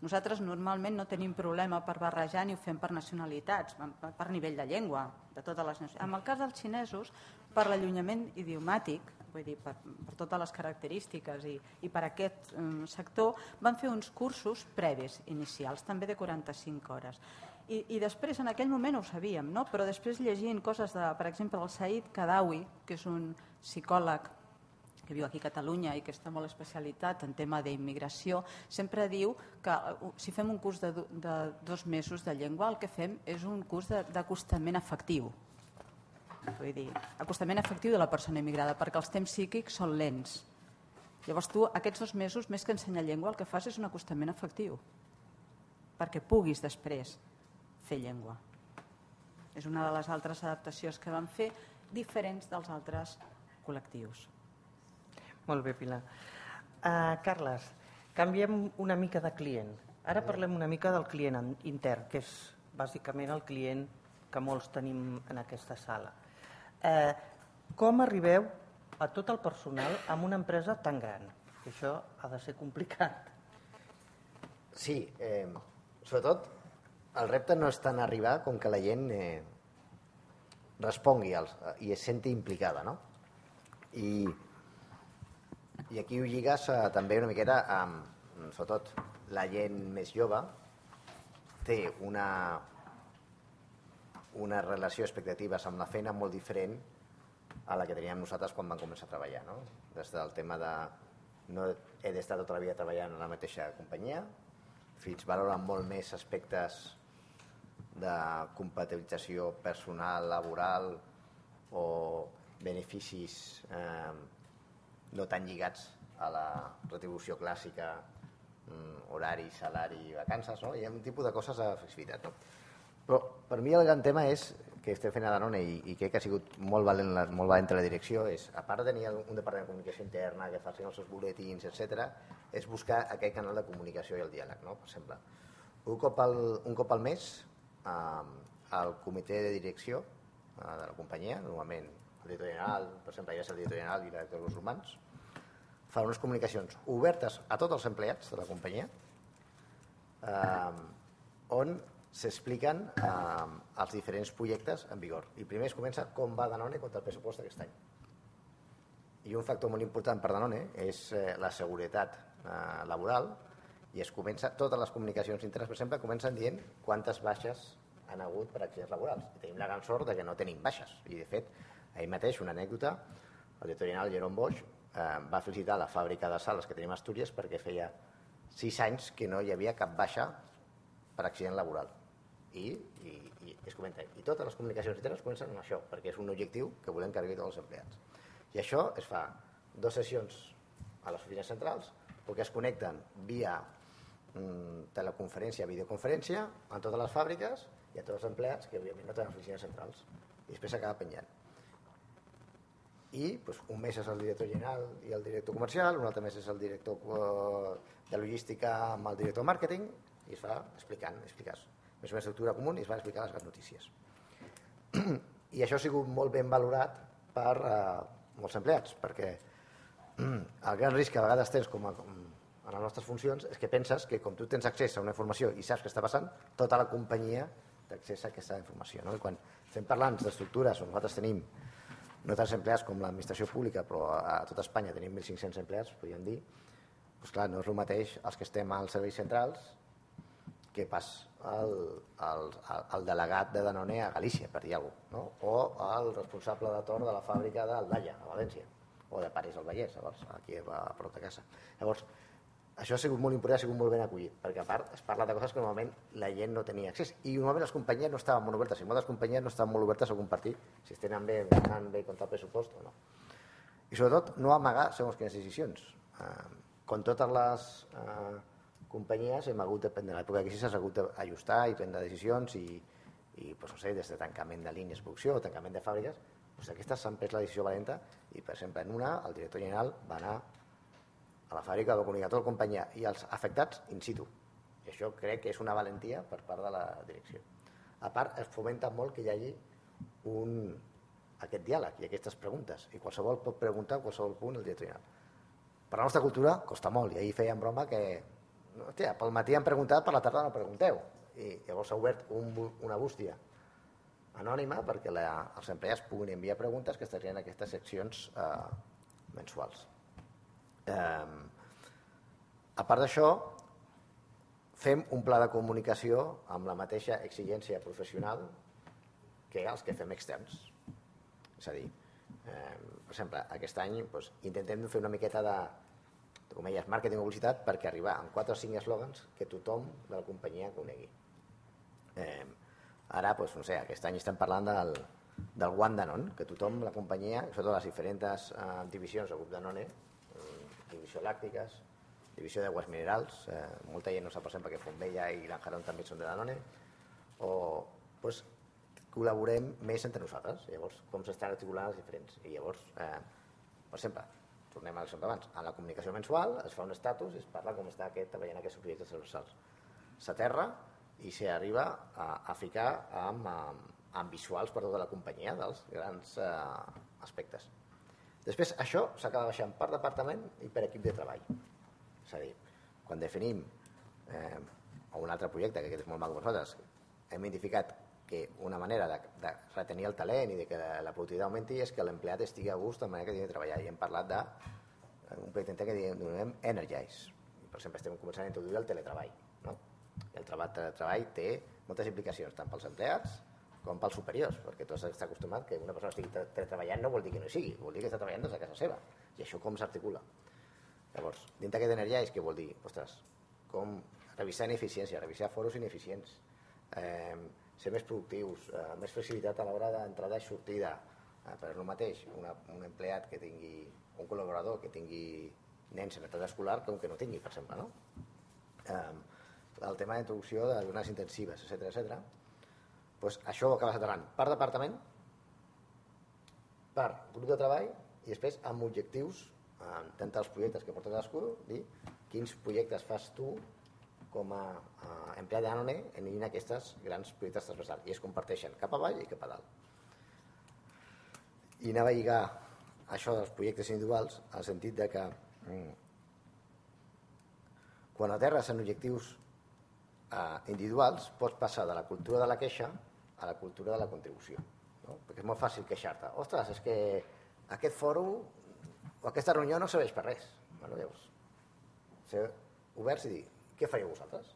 Nosaltres normalment no tenim problema per barrejar ni ho fem per nacionalitats, per nivell de llengua, de totes les nacions. En el cas dels xinesos, per l'allunyament idiomàtic, vull dir, per totes les característiques i per aquest sector, van fer uns cursos previs inicials, també de 45 hores. I després, en aquell moment ho sabíem, però després llegint coses, per exemple, del Said Kadawi, que és un psicòleg que viu aquí a Catalunya i que està molt especialitzat en tema d'immigració, sempre diu que si fem un curs de 2 mesos de llengua, el que fem és un curs d'acostament afectiu. Vull dir, acostament afectiu de la persona immigrada, perquè els temps psíquics són lents. Llavors tu, aquests 2 mesos, més que ensenyar llengua, el que fas és un acostament afectiu, perquè puguis després fer llengua. És una de les altres adaptacions que vam fer, diferents dels altres col·lectius. Molt bé, Pilar. Carles, canviem una mica de client. Ara parlem una mica del client intern, que és bàsicament el client que molts tenim en aquesta sala. Com arribeu a tot el personal amb una empresa tan gran? Això ha de ser complicat. Sí, sobretot el repte no és tant arribar com que la gent respongui i es senti implicada, no? I aquí ho lligues també una miqueta amb, sobretot, la gent més jove té una relació d'expectatives amb la feina molt diferent a la que teníem nosaltres quan vam començar a treballar, no? Des del tema de no he d'estar tota la vida treballant en la mateixa companyia, fins valoren molt més aspectes de compatibilització personal, laboral o beneficis no tan lligats a la retribució clàssica, horari, salari, vacances, no? Hi ha un tipus de coses de flexibilitat, no? Però per mi el gran tema és que estem fent a Danone i crec que ha sigut molt valent la direcció, és, a part de tenir un departament de comunicació interna que facin els seus butlletins, etc., és buscar aquest canal de comunicació i el diàleg, no? Per exemple, un cop al mes el comitè de direcció de la companyia, normalment el director general, per exemple, ja és el director general i el director dels humans, fa unes comunicacions obertes a tots els empleats de la companyia on s'expliquen els diferents projectes en vigor. I primer es comença com va Danone contra el pressupost d'aquest any. I un factor molt important per Danone és la seguretat laboral i es comença, totes les comunicacions internes, per exemple, comencen dient quantes baixes han hagut per accidents laborals. I tenim la gran sort de que no tenim baixes. I, de fet, ahir mateix, una anècdota, el director general Jerome Bosch va felicitar la fàbrica de sales que tenim a Astúries perquè feia 6 anys que no hi havia cap baixa per accident laboral. I es comenta, i totes les comunicacions internes comencen amb això, perquè és un objectiu que volem que arribi a tots els empleats. I això es fa 2 sessions a les oficines centrals, perquè es connecten via teleconferència, videoconferència, en totes les fàbriques, i a tots els empleats que òbviament no tenen oficines centrals i després s'acaba penjant. I un mes és el director general i el director comercial, un altre mes és el director de logística amb el director màrqueting i es va explicar més una estructura comuna i es va explicar les grans notícies. I això ha sigut molt ben valorat per molts empleats, perquè el gran risc que a vegades tens com en les nostres funcions és que penses que com tu tens accés a una informació i saps què està passant, tota la companyia té accés a aquesta informació. I quan estem parlant d'estructures on nosaltres tenim no tants empleats com l'administració pública, però a tota Espanya tenim 1.500 empleats, podríem dir, doncs clar, no és el mateix els que estem als serveis centrals que pas el delegat de Danone a Galícia, per dir alguna cosa, no? O el responsable de torn de la fàbrica d'Aldaia, a València, o de París al Vallès, aquí a prop de casa. Llavors, això ha sigut molt important, ha sigut molt ben acollit, perquè a part es parla de coses que normalment la gent no tenia accés, i normalment les companyies no estaven molt obertes, i moltes companyies no estaven molt obertes a compartir si es tenen bé, anant bé contra el pressupost o no. I sobretot no amagar segons quines decisions. Com totes les companyies hem hagut de prendre, a l'època de crisi s'ha hagut d'ajustar i prendre decisions i no sé, des de tancament de línies de producció o tancament de fàbriques, aquestes s'han pres la decisió valenta i, per exemple, en una, el director general va anar a la fàbrica de comunicar tota la companyia i els afectats in situ. I això crec que és una valentia per part de la direcció. A part, es fomenta molt que hi hagi aquest diàleg i aquestes preguntes, i qualsevol pot preguntar a qualsevol punt el director general. Per la nostra cultura costa molt, i ahir feien broma que hòstia, pel matí han preguntat, per la tarda no pregunteu. I llavors s'ha obert una bústia anònima perquè els empleats puguin enviar preguntes que estarien en aquestes seccions mensuals. A part d'això, fem un pla de comunicació amb la mateixa exigència professional que els que fem externs. És a dir, per exemple, aquest any intentem fer una miqueta de màrqueting o publicitat perquè arribar amb 4 o 5 eslògans que tothom de la companyia conegui. Ara, no sé, aquest any estem parlant del One Danone, que tothom, la companyia, sobretot les diferents divisions del grup Danone, divisió làctiques, divisió d'aigües minerals, molta gent no sap, per exemple, que Fontbella i Lanjarón també són de Danone, o col·laborem més entre nosaltres, llavors com s'estan articulant els diferents. I llavors, per exemple, tornem a l'exemple abans, en la comunicació mensual es fa un estatus i es parla com està treballant aquests projectes transversals. S'aterra i s'arriba a ficar amb visuals per tota la companyia dels grans aspectes. Després, això s'acaba baixant per departament i per equip de treball. És a dir, quan definim un altre projecte, que aquest és molt maco per nosaltres, hem identificat que una manera de retenir el talent i de que la productivitat augmenti és que l'empleat estigui a gust de la manera que tingui de treballar. I hem parlat d'un projecte que diem Energize. Per exemple, estem començant a introduir el teletreball. El teletreball té moltes implicacions, tant pels empleats com pels superiors, perquè tots està acostumat que una persona estigui teletreballant no vol dir que no hi sigui, vol dir que està treballant des de casa seva. I això com s'articula? Llavors, dintre d'aquest Energize, què vol dir? Ostres, com revisar ineficiència, revisar foros ineficients, ser més productius, més flexibilitat a l'hora d'entrada i sortida. Per el mateix, un empleat que tingui, un col·laborador que tingui nens en edat escolar com que no tingui, per exemple. El tema d'introducció de jornades intensives, etc. Això ho acabes aterrant per departament, per grup de treball i després amb objectius d'entre els projectes que porta cadascú, dir quins projectes fas tu com a empleat de Danone en aquests grans projectes transversals i es comparteixen cap avall i cap a dalt. I anava a lligar això dels projectes individuals al sentit de que quan aterres en objectius individuals pots passar de la cultura de la queixa a la cultura de la contribució, no? Perquè és molt fàcil queixar-te. Ostres, és que aquest fòrum o aquesta reunió no serveix per res. Llavors, ser oberts i dir què faríeu vosaltres?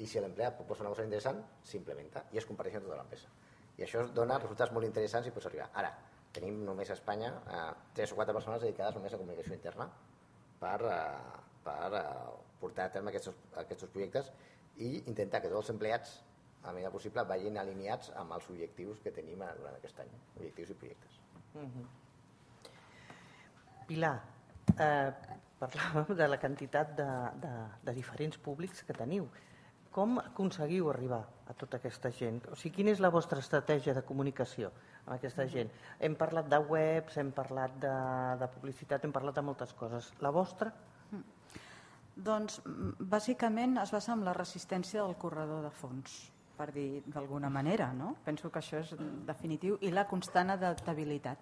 I si l'empleat proposa una cosa interessant, s'implementa i es comparteix en tota l'empresa. I això dona resultats molt interessants i pots arribar. Ara, tenim només a Espanya 3 o 4 persones dedicades només a comunicació interna per portar a terme aquests projectes i intentar que tots els empleats, a la mesura possible, vagin alineats amb els objectius que tenim durant aquest any, objectius i projectes. Pilar, parlàvem de la quantitat de diferents públics que teniu. com aconseguiu arribar a tota aquesta gent? O sigui, quina és la vostra estratègia de comunicació amb aquesta gent? Hem parlat de webs, hem parlat de publicitat, hem parlat de moltes coses. La vostra? Doncs, bàsicament, es basa en la resistència del corredor de fons, per dir d'alguna manera, no? Penso que això és definitiu, i la constant adaptabilitat.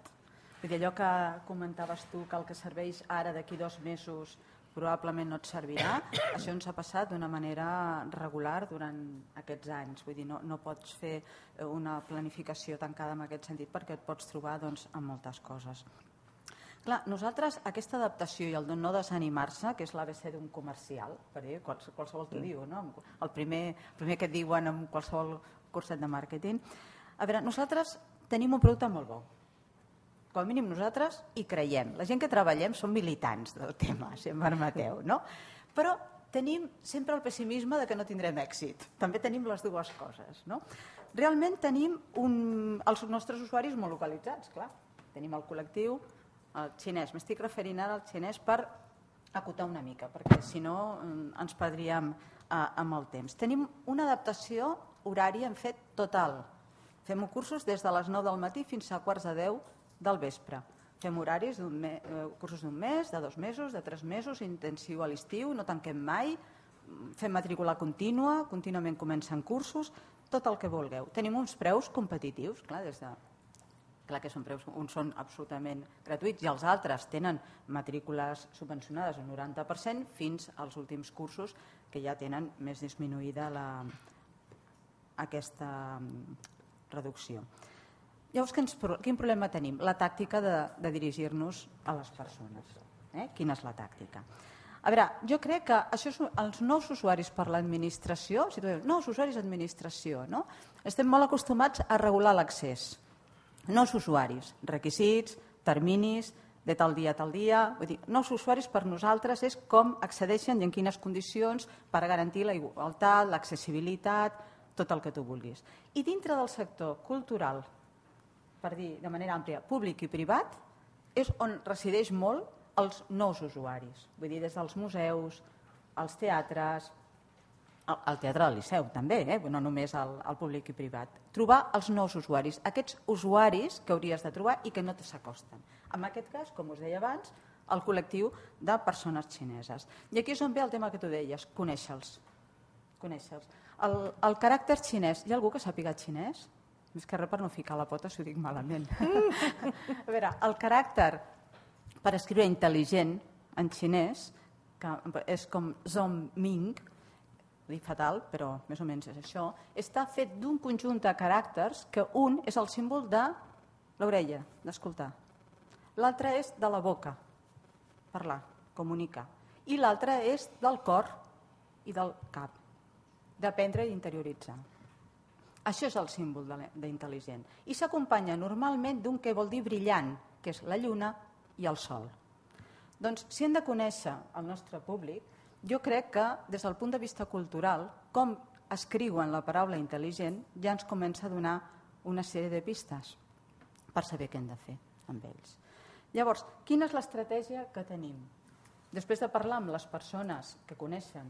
Vull dir, allò que comentaves tu, que el que serveix ara d'aquí 2 mesos probablement no et servirà, això ens ha passat d'una manera regular durant aquests anys. Vull dir, no pots fer una planificació tancada en aquest sentit perquè et pots trobar doncs, amb moltes coses. Clar, nosaltres aquesta adaptació i el de no desanimar-se, que és l'ABC d'un comercial, per dir, qualsevol t'ho diu, no? El primer que et diuen en qualsevol curset de màrqueting. A veure, nosaltres tenim un producte molt bo. Com a mínim nosaltres hi creiem. La gent que treballem som militants del tema, si em permeteu, no? Però tenim sempre el pessimisme de que no tindrem èxit. També tenim les dues coses, no? Realment tenim els nostres usuaris molt localitzats, clar. Tenim el col·lectiu, el xinès. M'estic referint ara al xinès per acotar una mica, perquè si no ens perdríem amb el temps. Tenim una adaptació horària en fet total. Fem cursos des de les 9 del matí fins a 9:15 del vespre. Fem horaris, cursos d'un mes, de 2 mesos, de 3 mesos, intensiu a l'estiu, no tanquem mai, fem matrícula contínua, contínuament comencen cursos, tot el que vulgueu. Tenim uns preus competitius, clar, clar que són preus, uns són absolutament gratuïts i els altres tenen matrícules subvencionades al 90% fins als últims cursos que ja tenen més disminuïda aquesta reducció. Llavors, quin problema tenim? La tàctica de dirigir-nos a les persones. Quina és la tàctica? A veure, jo crec que això els nous usuaris per l'administració, si tu dius, nous usuaris d'administració, no? Estem molt acostumats a regular l'accés. Nous usuaris, requisits, terminis, de tal dia a tal dia. Vull dir, nous usuaris per nosaltres és com accedeixen i en quines condicions per garantir la igualtat, l'accessibilitat, tot el que tu vulguis. I dintre del sector cultural, per dir de manera àmplia, públic i privat, és on resideix molt els nous usuaris. Vull dir, des dels museus, els teatres, el teatre del Liceu també, no només el públic i privat. Trobar els nous usuaris, aquests usuaris que hauries de trobar i que no s'acosten. En aquest cas, com us deia abans, el col·lectiu de persones xineses. I aquí és on ve el tema que tu deies, conèixer-los. El caràcter xinès, hi ha algú que sàpiga xinès? Més que res per no ficar la pota si ho dic malament. A veure, el caràcter per escriure intel·ligent en xinès, que és com Zhongming, dic fatal, però més o menys és això, està fet d'un conjunt de caràcters que un és el símbol de l'orella, d'escoltar. L'altre és de la boca, parlar, comunicar. I l'altre és del cor i del cap, d'aprendre i interioritzar. Això és el símbol d'intel·ligent. I s'acompanya normalment d'un que vol dir brillant, que és la lluna i el sol. Doncs si hem de conèixer el nostre públic, jo crec que des del punt de vista cultural, com escriuen la paraula intel·ligent, ja ens comença a donar una sèrie de pistes per saber què hem de fer amb ells. Llavors, quina és l'estratègia que tenim? Després de parlar amb les persones que coneixen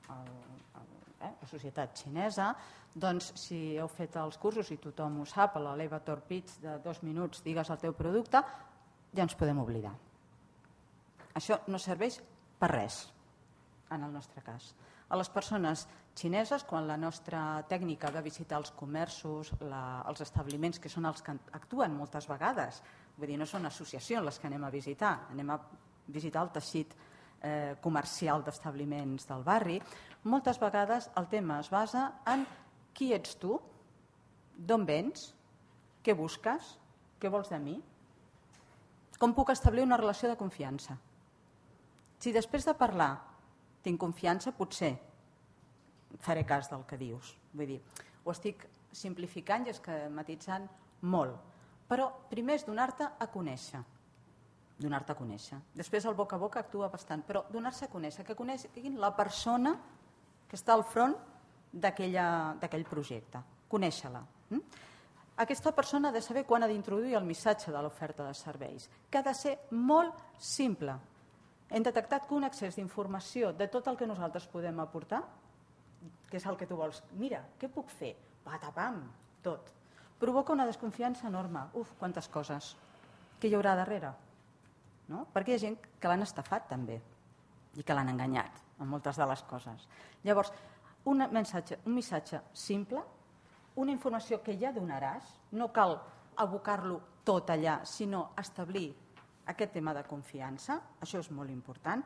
la societat xinesa, doncs si heu fet els cursos i tothom ho sap, a l'elevator pitch de 2 minuts digues el teu producte, ja ens podem oblidar. Això no serveix per res, en el nostre cas. A les persones xineses, quan la nostra tècnica va visitar els comerços, els establiments, que són els que actuen moltes vegades, vull dir, no són associacions les que anem a visitar, anem a visitar el teixit comercial d'establiments del barri, moltes vegades el tema es basa en qui ets tu, d'on vens, què busques, què vols de mi, com puc establir una relació de confiança. Si després de parlar tinc confiança, potser faré cas del que dius. Vull dir, ho estic simplificant i esquematitzant molt, però primer és donar-te a conèixer. Donar-te a conèixer. Després el boca a boca actua bastant, però donar-se a conèixer, que coneguin la persona que està al front d'aquell projecte. Conèixer-la. Aquesta persona ha de saber quan ha d'introduir el missatge de l'oferta de serveis, que ha de ser molt simple. Hem detectat que un accés d'informació de tot el que nosaltres podem aportar què és el que tu vols. Mira, què puc fer? Patapam, tot. Provoca una desconfiança enorme. Uf, quantes coses. Què hi haurà darrere? No? Perquè hi ha gent que l'han estafat també i que l'han enganyat en moltes de les coses. Llavors, un missatge simple, una informació que ja donaràs, no cal abocar-lo tot allà, sinó establir aquest tema de confiança, això és molt important,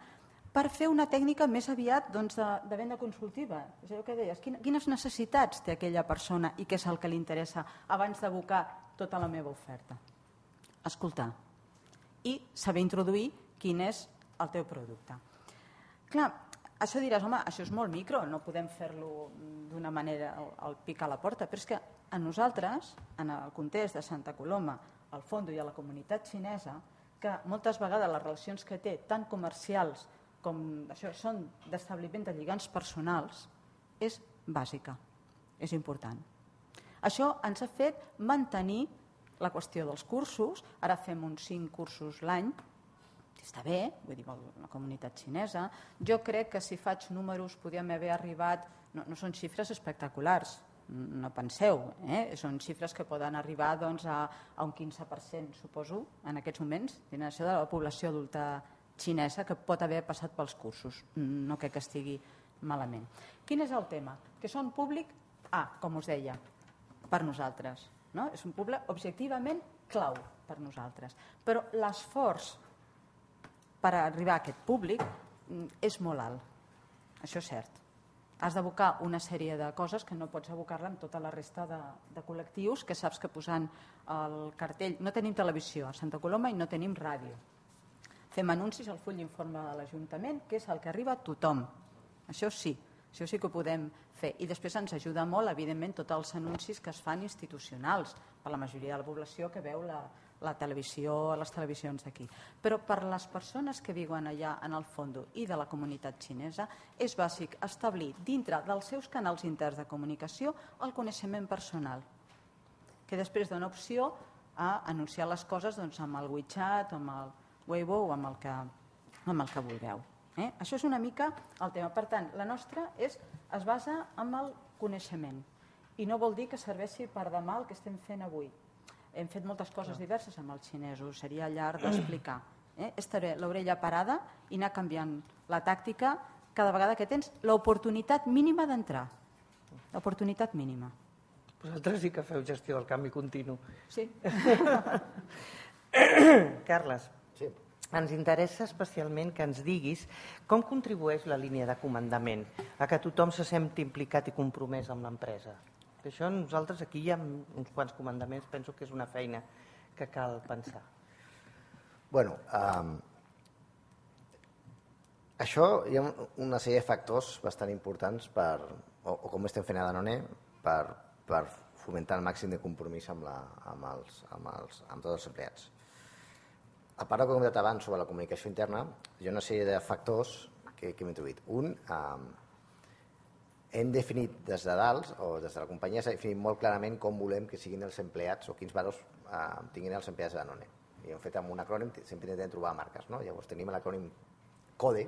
per fer una tècnica més aviat de venda consultiva. És allò que deies, quines necessitats té aquella persona i què és el que li interessa abans d'abocar tota la meva oferta. Escoltar i saber introduir quin és el teu producte. Clar, això diràs, home, això és molt micro, no podem fer-lo d'una manera al pic a la porta, però és que a nosaltres, en el context de Santa Coloma, al Fondo i a la comunitat xinesa, que moltes vegades les relacions que té, tant comercials com això, són d'establiment de lligams personals, és bàsica, és important. Això ens ha fet mantenir la qüestió dels cursos, ara fem uns 5 cursos l'any, està bé, vull dir, la comunitat xinesa. Jo crec que si faig números podríem haver arribat, no són xifres espectaculars, no penseu, són xifres que poden arribar a un 15%, suposo, en aquests moments, de la població adulta xinesa que pot haver passat pels cursos. No crec que estigui malament. Quin és el tema? Que són públic A, com us deia, per nosaltres. No? És un públic objectivament clau per nosaltres. Però l'esforç per arribar a aquest públic és molt alt. Això és cert. Has d'abocar una sèrie de coses que no pots abocar-la amb tota la resta de col·lectius que saps que posant el cartell... No tenim televisió a Santa Coloma i no tenim ràdio. Fem anuncis al full d'informe de l'Ajuntament, que és el que arriba a tothom. Això sí que ho podem fer. I després ens ajuda molt, evidentment, tots els anuncis que es fan institucionals per la majoria de la població que veu la televisió, les televisions d'aquí. Però per les persones que viuen allà en el Fondo i de la comunitat xinesa és bàsic establir dintre dels seus canals interns de comunicació el coneixement personal, que després dona opció a anunciar les coses amb el WeChat, amb el Weibo o amb el que vulgueu. Això és una mica el tema. Per tant, la nostra es basa en el coneixement i no vol dir que serveixi per demà el que estem fent avui. Hem fet moltes coses diverses amb els xinesos, seria llarg d'explicar. Estaré l'orella parada i anar canviant la tàctica cada vegada que tens l'oportunitat mínima d'entrar. L'oportunitat mínima. Vosaltres sí que feu gestió del canvi continu. Sí. Carles, Sí. ens interessa especialment que ens diguis com contribueix la línia de comandament a que tothom se senti implicat i compromès amb l'empresa. Això nosaltres aquí hi ha uns quants comandaments, penso que és una feina que cal pensar. Bueno, això hi ha una sèrie de factors bastant importants o com estem fent a Danone per fomentar el màxim de compromís amb tots els empleats. A part del que he comentat abans sobre la comunicació interna, hi ha una sèrie de factors que hem introduït. Un, hem definit des de dalt, o des de la companyia, s'ha definit molt clarament com volem que siguin els empleats o quins valors tinguin els empleats de Danone. I hem fet amb un acrònim, sempre intentem trobar marques. Llavors tenim l'acrònim CODE,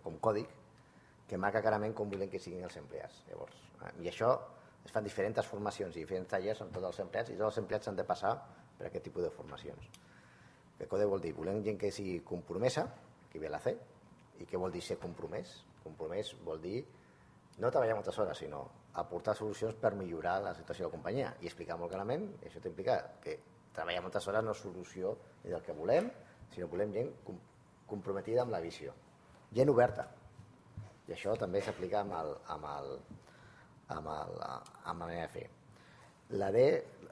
com còdic, que marca clarament com volem que siguin els empleats. I això es fan diferents formacions i diferents tallers amb tots els empleats i tots els empleats han de passar per aquest tipus de formacions. El CODE vol dir, volem gent que sigui compromesa, que ve a la C, i què vol dir ser compromès? Compromès vol dir no treballar moltes hores, sinó aportar solucions per millorar la situació de la companyia i explicar molt clarament, i això t'implica que treballar moltes hores no és solució ni del que volem, sinó volem gent comprometida amb la visió. Gent oberta. I això també s'aplica amb la manera de fer. La D,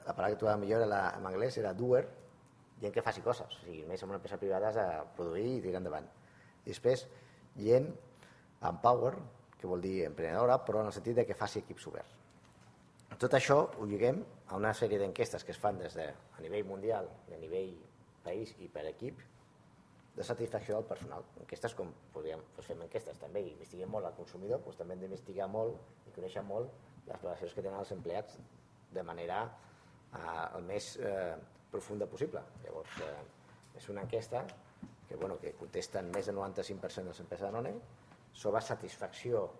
la paraula que trobava millor en anglès era doer, gent que faci coses, o sigui, més en una empresa privada has de produir i tirar endavant. I després, gent empower, que vol dir emprenedora, però en el sentit que faci equips oberts. Tot això ho lliguem a una sèrie d'enquestes que es fan des de a nivell mundial, a nivell país i per equip, de satisfacció del personal. Enquestes com fem enquestes també i investiguem molt al consumidor, doncs també hem d'investigar molt i conèixer molt les relacions que tenen els empleats de manera el més profunda possible. Llavors, és una enquesta que contesten més del 95% de les empreses de Danone sobre satisfacció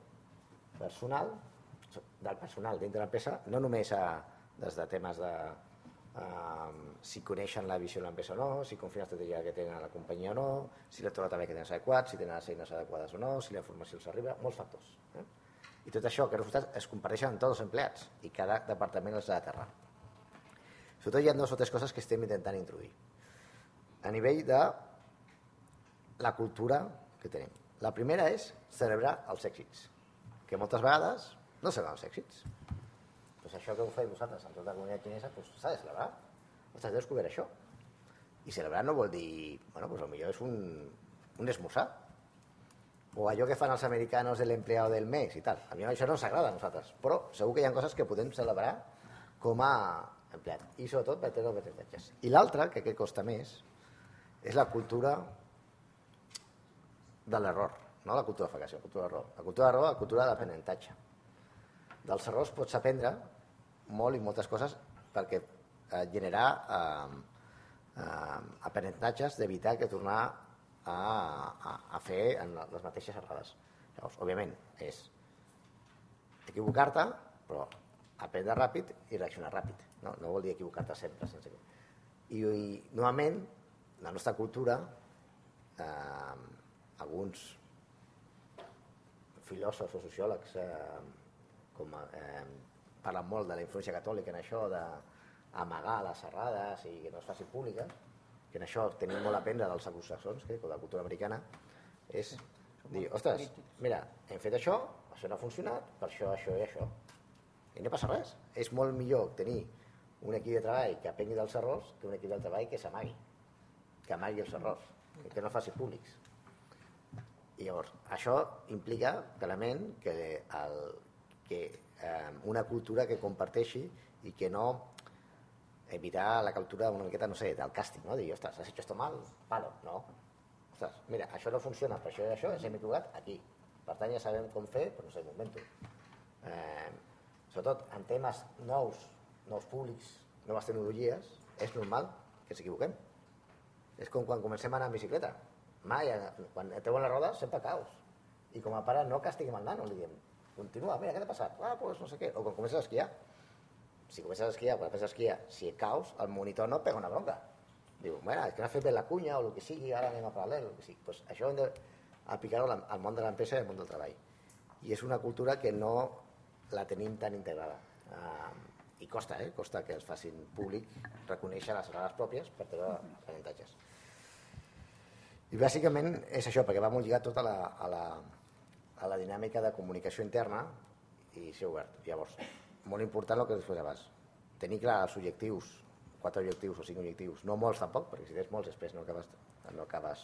personal del personal dintre l'empresa, no només des de temes de si coneixen la visió de l'empresa o no, si confien en l'estratègia que tenen a la companyia o no, si l'entorn també que tenen és adequat, si tenen les eines adequades o no, si la informació els arriba, molts factors. I tot això, aquests resultats es comparteixen amb tots els empleats i cada departament els ha d'aterrar. Sobretot hi ha 2 o 3 coses que estem intentant introduir. A nivell de la cultura que tenim. La primera és celebrar els èxits, que moltes vegades no celebren els èxits. Doncs això que ho feu vosaltres amb tota la comunitat xinesa s'ha de celebrar. Ostres, heu descobert això. I celebrar no vol dir, bueno, pues potser és un esmorzar. O allò que fan els americanos de l'empleado del mes i tal. A mi això no ens agrada a nosaltres, però segur que hi ha coses que podem celebrar com a empleat. I sobretot per tenir aprenentatges. I l'altra, que costa més, és la cultura de l'error, no la cultura de fracació, la cultura d'error. La cultura d'error, la cultura de l'aprenentatge. Dels errors pots aprendre molt i moltes coses perquè generar aprenentatges d'evitar que tornar a fer les mateixes errades. Llavors, òbviament, és equivocar-te, però aprendre ràpid i reaccionar ràpid. No vol dir equivocar-te sempre. I normalment, la nostra cultura, alguns filòsofs o sociòlegs parlen molt de la influència catòlica en això d'amagar les errades i que no es facin públiques, que en això tenim molt a aprendre dels anglosaxons, de la cultura americana, és dir, ostres, mira, hem fet això no ha funcionat, per això i això. I no passa res. És molt millor tenir un equip de treball que aprengui dels errors que un equip de treball que s'amagui, que amagui els errors, que no faci públics. I llavors, això implica clarament que una cultura que comparteixi i que no evitar la cultura una miqueta, no sé, del càstig, no? Dir, ostres, has hecho esto mal, palo, no. Ostres, mira, això no funciona, per això i això, ens hem equivocat aquí. Per tant, ja sabem com fer, però no sé, m'ho invento. Sobretot, en temes nous públics, noves tecnologies, és normal que ens equivoquem. És com quan comencem a anar en bicicleta. Mai, quan treuen les rodes, sempre caus. I com a pare no castiguem el nano, li diem, continua, mira, què t'ha passat? Doncs no sé què. O quan comences a esquiar. Si comences a esquiar, quan fes esquiar, si caus, el monitor no pega una bronca. Diu, bueno, és que no has fet bé la cunya o el que sigui, ara anem a paral·lel, el que sigui. Pues això hem d'aplicar-ho al món de l'empresa i al món del treball. I és una cultura que no la tenim tan integrada. I costa que es facin públic reconèixer les errades pròpies per treure aprenentatges. I bàsicament és això, perquè va molt lligat tot a la dinàmica de comunicació interna i ser obert. Llavors, molt important el que després abans. Tenir clar els objectius, 4 objectius o 5 objectius, no molts tampoc, perquè si tens molts després no acabes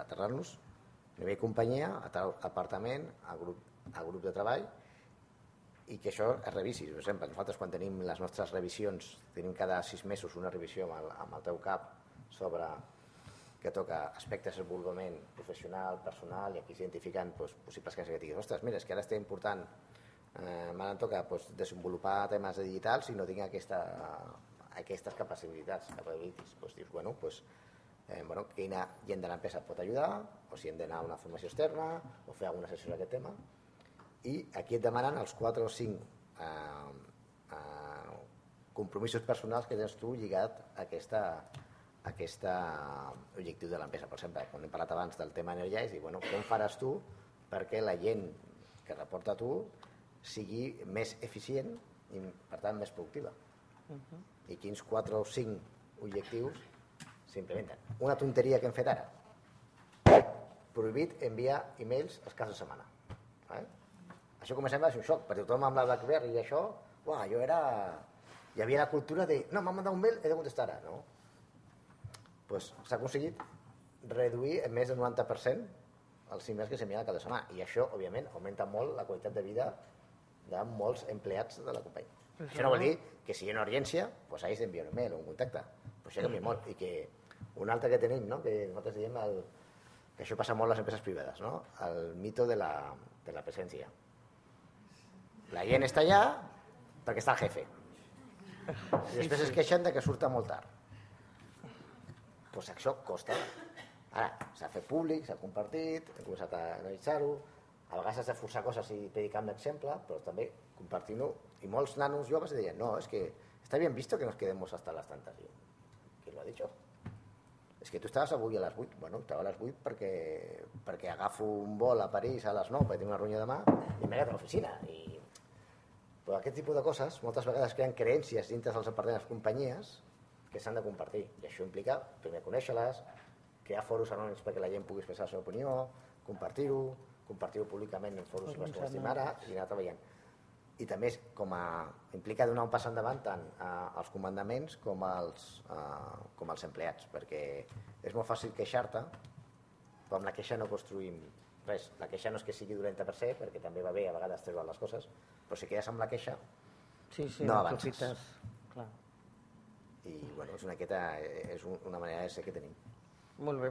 aterrant-los. A nivell companyia, a apartament, a grup de treball, i que això es revisi. Per exemple, nosaltres quan tenim les nostres revisions, tenim cada 6 mesos una revisió amb el teu cap sobre que toca aspectes de desenvolupament professional, personal, i aquí s'identifiquen possibles casos que diguis, ostres, mira, és que ara estem important, m'ara em toca desenvolupar temes digitals i no tinc aquestes capacitats. Dius, bueno, quina gent de l'empresa pot ajudar, o si hem d'anar a una formació externa, o fer alguna sessió d'aquest tema. I aquí et demanen els 4 o 5 compromisos personals que tens tu lligat a aquest objectiu de l'empresa. Per exemple, quan hem parlat abans del tema energià, és dir, com faràs tu perquè la gent que reporta a tu sigui més eficient i, per tant, més productiva. I quins 4 o 5 objectius s'implementen. Una tonteria que hem fet ara. Prohibit enviar e-mails els caps de setmana. Això com sembla és un xoc, perquè tothom amb la BlackBerry i això, hi havia la cultura de, no, m'ha mandat un mail, he de contestar ara, no? S'ha aconseguit reduir en més del 90% els e-mails que s'envien al cap de setmana, i això, òbviament, augmenta molt la qualitat de vida de molts empleats de la companyia. Això no vol dir que si hi ha una urgència, hagis d'enviar un email o un contacte, però això canvia molt. I que un altre que tenim, que nosaltres diem que això passa molt a les empreses privades, el mito de la presència. La gent està allà perquè està el jefe. I després es queixen que surta molt tard. Això costa. Ara, s'ha fet públic, s'ha compartit, hem començat a analitzar-ho, a vegades has de forçar coses i predicar amb l'exemple, però també compartir-ho. I molts nanos joves deien, no, és que está bien visto que nos quedemos hasta las tantas. ¿Quién lo ha dicho? És que tu estaves avui a les 8. Bueno, estava a les 8 perquè agafo un vol a París a les 9 perquè tinc una reunió demà i m'he quedat a l'oficina. Però aquest tipus de coses moltes vegades creen creencies dintre dels departaments de les companyies que s'han de compartir. I això implica, primer, conèixer-les, crear foros anònims perquè la gent pugui expressar la seva opinió, compartir-ho públicament en foros que estim ara i anar treballant. I també implica donar un pas endavant tant als comandaments com als empleats, perquè és molt fàcil queixar-te, però amb la queixa no construïm res. La queixa no és que sigui dolenta per se, perquè també va bé a vegades treure les coses, però si quedes amb la queixa no avances. I bueno, és una manera de ser que tenim. Molt bé,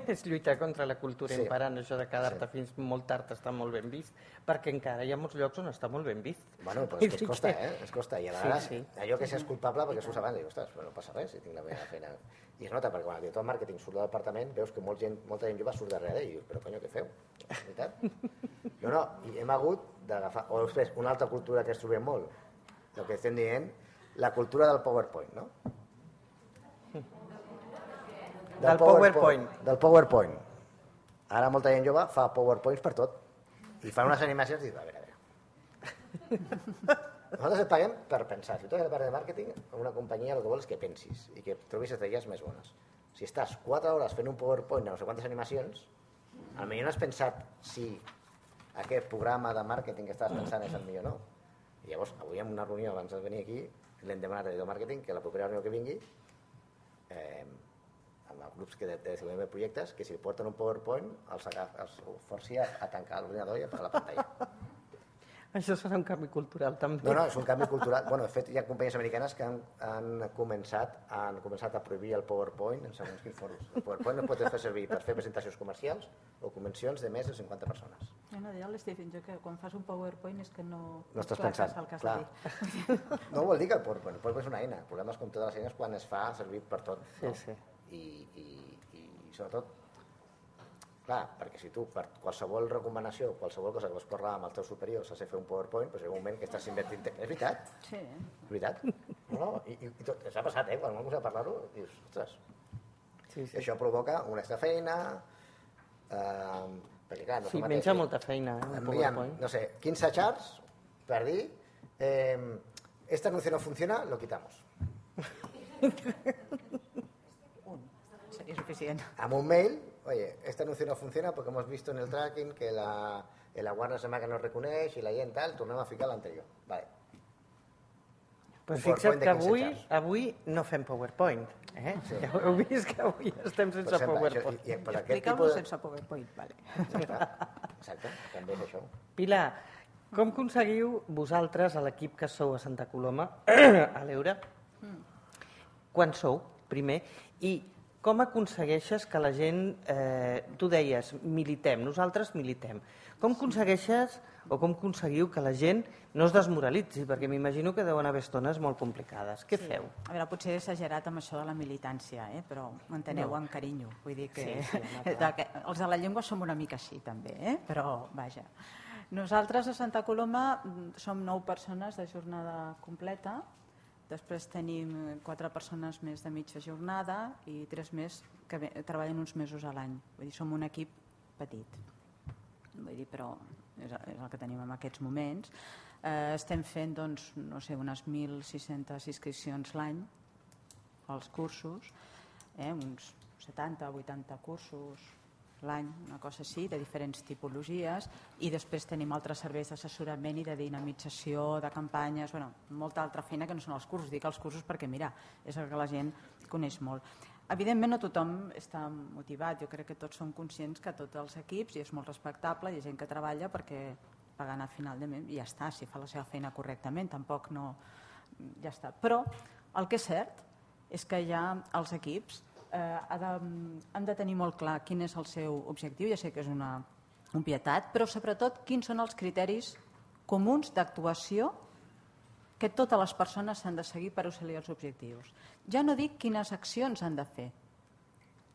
és lluitar contra la cultura imperant, això de quedar-te fins molt tard està molt ben vist, perquè encara hi ha molts llocs on està molt ben vist. Bueno, però és que es costa, i a vegades allò que s'és culpable perquè surts abans, dius, ostres, no passa res, si tinc la meva feina. I es nota, perquè quan el director de màrqueting surt del departament, veus que molta gent jove surt darrere i dius, però conyo, què feu? És veritat? No, i hem hagut d'agafar, o després, una altra cultura que es trobem molt, el que estem dient, la cultura del PowerPoint, no? Del PowerPoint. Del PowerPoint. Ara molta gent jove fa PowerPoints per tot. I fan unes animacions i dius, a veure. Nosaltres et paguem per pensar. Si tu has de parlar de màrqueting, en una companyia el que vols és que pensis i que trobis estratègies més bones. Si estàs 4 hores fent un PowerPoint de no sé quantes animacions, potser no has pensat si aquest programa de màrqueting que estaves pensant és el millor o no. I llavors, avui en una reunió abans de venir aquí, l'hem demanat al director de màrqueting que la propera reunió que vingui amb els grups que desenvolupen projectes, que si porten un PowerPoint els forci a tancar l'ordinador i apagar la pantalla. Això serà un canvi cultural, també. No, és un canvi cultural. Bueno, de fet, hi ha companyies americanes que han començat a prohibir el PowerPoint en segons quins fòrums. El PowerPoint no pot fer servir per fer presentacions comercials o convencions de més de 50 persones. No, deia l'Stephen, que quan fas un PowerPoint és que no estàs pensant. El que has de dir. No vol dir que el PowerPoint és una eina. Programes com totes les eines quan es fa servir per tot. Sí. I sobretot, clar, perquè si tu per qualsevol recomanació, qualsevol cosa que vols parlar amb els teus superiors has de fer un PowerPoint, doncs hi ha un moment que estàs invertint... És veritat? Sí. És veritat? No, i tot, s'ha passat, quan vam començar a parlar-ho, dius, ostres, Sí. això provoca una extra feina, perquè clar, no menja molta feina, el PowerPoint. No sé, 15 chats per dir, este anuncio no funciona, lo quitamos. Sería suficiente. Amb un mail, oye, este anuncio no funciona porque hemos visto en el tracking que el aguardo se que no reconeix i la gent tal, tornem a ficar l'anterior. Vale. Però fixa't que avui no fem PowerPoint. Sí. Ja heu vist que avui estem sense PowerPoint. Explica-ho sense PowerPoint, vale. Exacte, també és això. Pilar, com aconseguiu vosaltres, a l'equip que sou a Santa Coloma, a l'Eure, quan sou, primer, i com aconsegueixes que la gent, tu deies, militem, nosaltres militem, com aconsegueixes o com aconseguiu que la gent no es desmoralitzi? Perquè m'imagino que deuen haver estones molt complicades. Què feu? A veure, potser he exagerat amb això de la militància, però m'enteneu amb carinyo. Vull dir que els de la llengua som una mica així, també, però vaja. Nosaltres a Santa Coloma som 9 persones de jornada completa, després tenim 4 persones més de mitja jornada i 3 més que treballen uns mesos a l'any. Vull dir, som un equip petit. Vull dir, però és el que tenim en aquests moments. Estem fent, doncs, no sé, unes 1.600 inscripcions l'any als cursos, uns 70-80 cursos l'any, una cosa així, de diferents tipologies, i després tenim altres serveis d'assessorament i de dinamització, de campanyes, molta altra feina que no són els cursos. Dic els cursos perquè, mira, és el que la gent coneix molt. Evidentment no tothom està motivat, jo crec que tots som conscients que tots els equips, i és molt respectable, hi ha gent que treballa perquè pagant a final de mes i ja està, si fa la seva feina correctament, tampoc no... ja està. Però el que és cert és que ja els equips han de tenir molt clar quin és el seu objectiu, ja sé que és una obvietat, però sobretot quins són els criteris comuns d'actuació que totes les persones s'han de seguir per assolir els objectius. Ja no dic quines accions han de fer,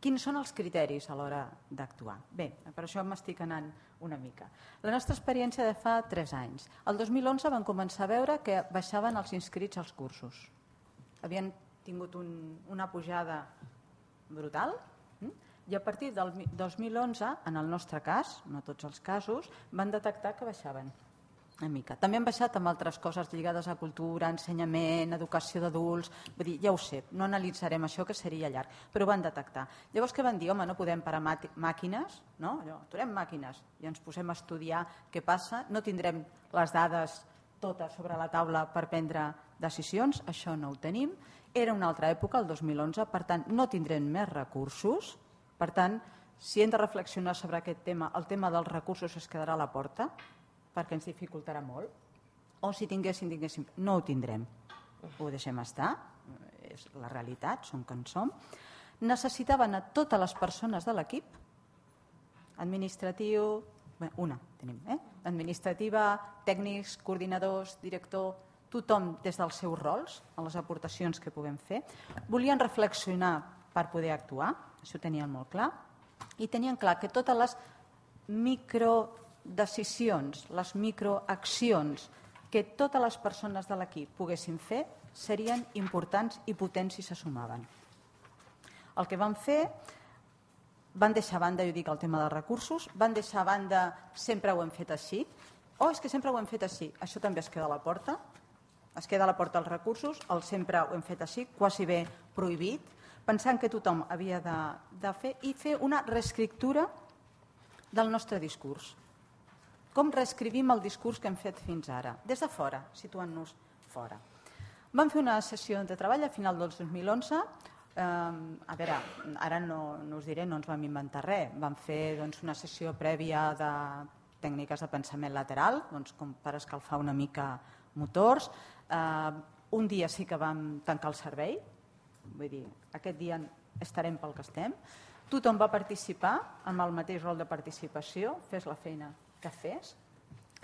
Quins són els criteris a l'hora d'actuar? Bé, per això m'estic anant una mica. La nostra experiència de fa 3 anys. El 2011 vam començar a veure que baixaven els inscrits als cursos. Havien tingut una pujada brutal i a partir del 2011, en el nostre cas, no tots els casos, van detectar que baixaven una mica. També han baixat amb altres coses lligades a cultura, ensenyament, educació d'adults, vull dir, ja ho sé, no analitzarem això que seria llarg, però ho van detectar. Llavors què van dir? Home, no podem parar màquines, no? Allò, aturem màquines i ens posem a estudiar què passa, no tindrem les dades totes sobre la taula per prendre decisions, això no ho tenim. Era una altra època, el 2011, per tant, no tindrem més recursos, per tant, si hem de reflexionar sobre aquest tema, el tema dels recursos es quedarà a la porta, perquè ens dificultarà molt, o si tinguéssim, no ho tindrem. Ho deixem estar, és la realitat, som com som. Necessitaven a totes les persones de l'equip, administratiu, una tenim, administrativa, tècnics, coordinadors, director, tothom des dels seus rols, en les aportacions que puguem fer. Volien reflexionar per poder actuar, això ho tenien molt clar, i tenien clar que totes les microdecisions, les microaccions que totes les persones de l'equip poguessin fer serien importants i potents si se sumaven. El que van fer, van deixar a banda, jo dic, el tema dels recursos, van deixar a banda sempre ho hem fet així, és que sempre ho hem fet així, això també es queda a la porta, es queda a la porta els recursos, el sempre ho hem fet així, quasi bé prohibit, pensant que tothom havia de fer i fer una reescriptura del nostre discurs. Com reescrivim el discurs que hem fet fins ara? Des de fora, situant-nos fora. Vam fer una sessió de treball a final del 2011. A veure, ara no us diré, no ens vam inventar res. Vam fer una sessió prèvia de tècniques de pensament lateral, com per escalfar una mica motors. Un dia sí que vam tancar el servei, vull dir, aquest dia estarem pel que estem. Tothom va participar amb el mateix rol de participació, fes la feina que fes,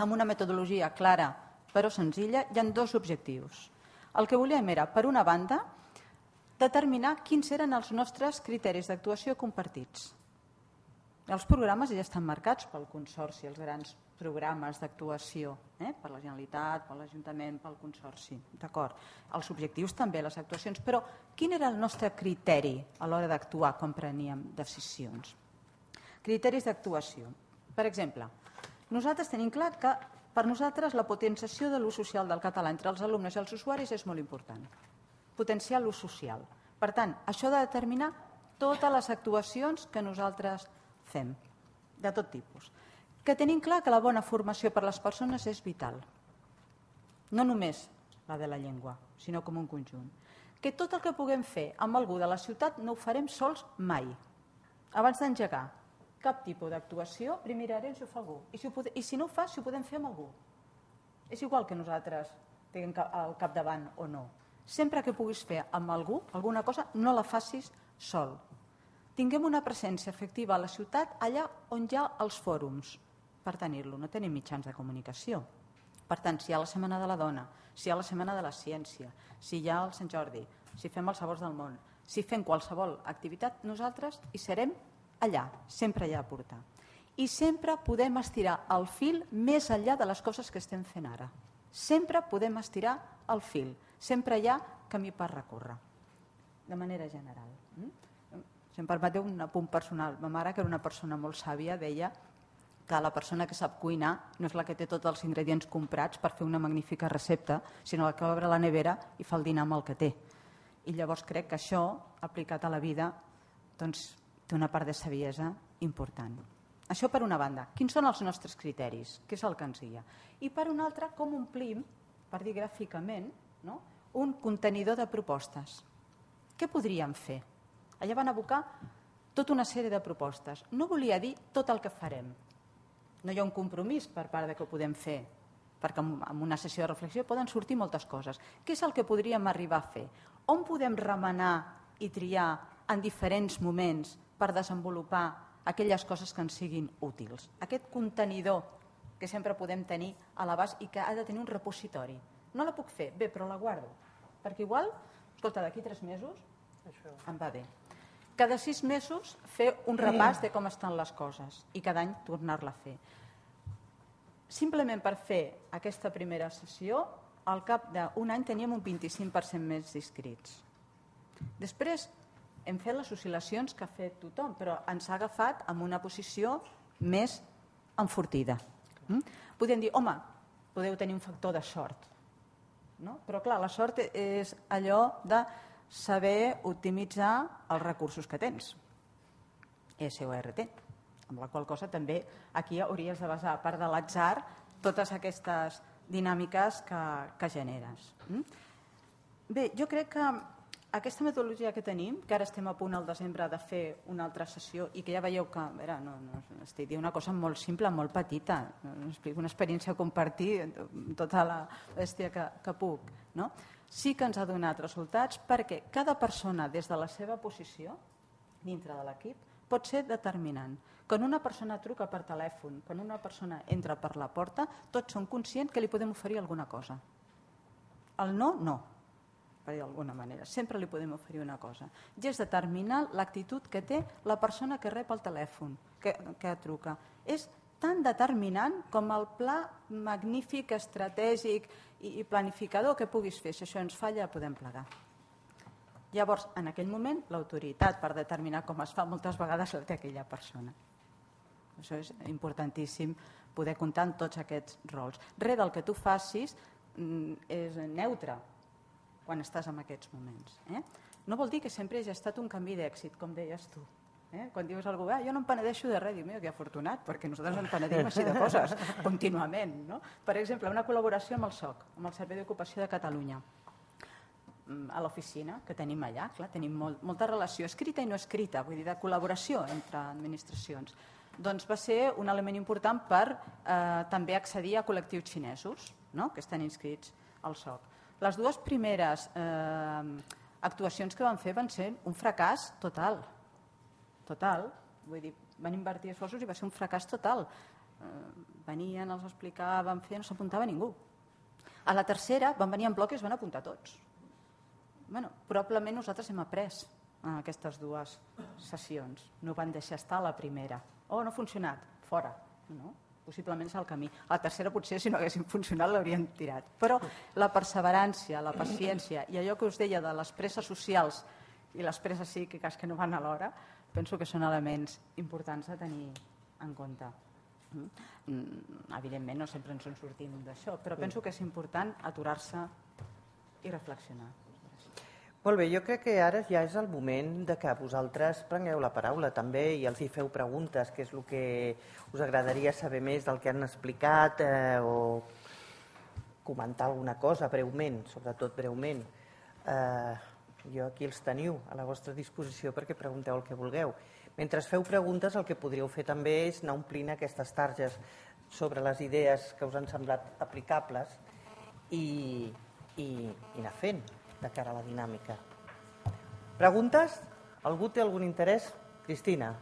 amb una metodologia clara però senzilla. Hi ha 2 objectius. El que volíem era, per una banda, determinar quins eren els nostres criteris d'actuació compartits. Els programes ja estan marcats pel Consorci, els grans programes d'actuació, per la Generalitat, per l'Ajuntament, pel Consorci. D'acord. Els objectius també, les actuacions, però quin era el nostre criteri a l'hora d'actuar quan preníem decisions? Criteris d'actuació. Per exemple, nosaltres tenim clar que per nosaltres la potenciació de l'ús social del català entre els alumnes i els usuaris és molt important. Potenciar l'ús social. Per tant, això ha de determinar totes les actuacions que nosaltres fem, de tot tipus. Que tenim clar que la bona formació per a les persones és vital. No només la de la llengua, sinó com un conjunt. Que tot el que puguem fer amb algú de la ciutat no ho farem sols mai. Abans d'engegar cap tipus d'actuació, primer mirarem si ho fa algú. I si no ho fa, si ho podem fer amb algú. És igual que nosaltres tinguem al capdavant o no. Sempre que puguis fer amb algú alguna cosa, no la facis sol. Tinguem una presència efectiva a la ciutat allà on hi ha els fòrums per tenir-lo. No tenim mitjans de comunicació. Per tant, si hi ha la Setmana de la Dona, si hi ha la Setmana de la Ciència, si hi ha el Sant Jordi, si fem els Sabors del Món, si fem qualsevol activitat, nosaltres hi serem allà, sempre allà a portar. I sempre podem estirar el fil més enllà de les coses que estem fent ara. Sempre podem estirar el fil. Sempre hi ha camí per recórrer, de manera general. Si em permeteu un apunt personal, ma mare, que era una persona molt sàvia, deia que la persona que sap cuinar no és la que té tots els ingredients comprats per fer una magnífica recepta, sinó la que obre la nevera i fa el dinar amb el que té. I llavors crec que això, aplicat a la vida, doncs, té una part de saviesa important. Això per una banda. Quins són els nostres criteris? Què és el que ens guia? I per una altra, com omplim, per dir gràficament, un contenidor de propostes. Què podríem fer? Allà van abocar tota una sèrie de propostes. No volia dir tot el que farem. No hi ha un compromís per part de que ho podem fer, perquè en una sessió de reflexió poden sortir moltes coses. Què és el que podríem arribar a fer? On podem remenar i triar en diferents moments per desenvolupar aquelles coses que ens siguin útils? Aquest contenidor que sempre podem tenir a l'abast i que ha de tenir un repositori. No la puc fer, bé, però la guardo, perquè igual, escolta, d'aquí 3 mesos em va bé. cada 6 mesos fer un repàs de com estan les coses i cada any tornar-la a fer. Simplement per fer aquesta primera sessió, al cap d'un any teníem un 25% més d'inscrits. Després hem fet les oscil·lacions que ha fet tothom, però ens ha agafat amb una posició més enfortida. Podem dir, home, podeu tenir un factor de sort. No? Però clar, la sort és allò de saber optimitzar els recursos que tens. SORT. Amb la qual cosa també aquí hauries de basar, a part de l'atzar, totes aquestes dinàmiques que generes. Bé, jo crec que aquesta metodologia que tenim, que ara estem a punt al desembre de fer una altra sessió i que ja veieu que, no estic dient una cosa molt simple, molt petita, explico una experiència a compartir tota la bèstia que puc, no? Sí que ens ha donat resultats perquè cada persona des de la seva posició dintre de l'equip pot ser determinant. Quan una persona truca per telèfon, quan una persona entra per la porta, tots som conscients que li podem oferir alguna cosa. El no, no. Per dir d'alguna manera, sempre li podem oferir una cosa. I és determinar l'actitud que té la persona que rep el telèfon, que truca. És tan determinant com el pla magnífic, estratègic i planificador que puguis fer. Si això ens falla, podem plegar. Llavors, en aquell moment, l'autoritat per determinar com es fa moltes vegades la té aquella persona. Això és importantíssim, poder comptar en tots aquests rols. Res del que tu facis és neutre quan estàs en aquests moments. No vol dir que sempre hagi estat un canvi d'èxit, com deies tu. Quan dius a algú, jo no em penedeixo de res, diu, mira, que afortunat, perquè nosaltres ens penedim així de coses, contínuament. No? Per exemple, una col·laboració amb el SOC, amb el Servei d'Ocupació de Catalunya, a l'oficina que tenim allà, clar, tenim molta relació escrita i no escrita, vull dir, de col·laboració entre administracions. Doncs va ser un element important per també accedir a col·lectius xinesos, no? Que estan inscrits al SOC. Les dues primeres actuacions que van fer van ser un fracàs total. Total. Vull dir, van invertir esforços i va ser un fracàs total. Venien, els explicaven, no s'apuntava ningú. A la tercera van venir en bloc i es van apuntar tots. Probablement nosaltres hem après en aquestes dues sessions. No van deixar estar a la primera. No ha funcionat, fora. No? Possiblement és el camí. A la tercera potser si no haguessin funcionat l'haurien tirat. Però la perseverància, la paciència i allò que us deia de les presses socials i les presses psíquiques que no van alhora, penso que són elements importants a tenir en compte. Evidentment no sempre ens en sortim d'això, però penso que és important aturar-se i reflexionar. Molt bé, jo crec que ara ja és el moment de que vosaltres prengueu la paraula també i els hi feu preguntes, que és el que us agradaria saber més del que han explicat o comentar alguna cosa breument, sobretot breument. Jo aquí els teniu a la vostra disposició perquè pregunteu el que vulgueu. Mentre feu preguntes, el que podríeu fer també és anar omplint aquestes targes sobre les idees que us han semblat aplicables i anar fent de cara a la dinàmica. Preguntes? Algú té algun interès? Cristina.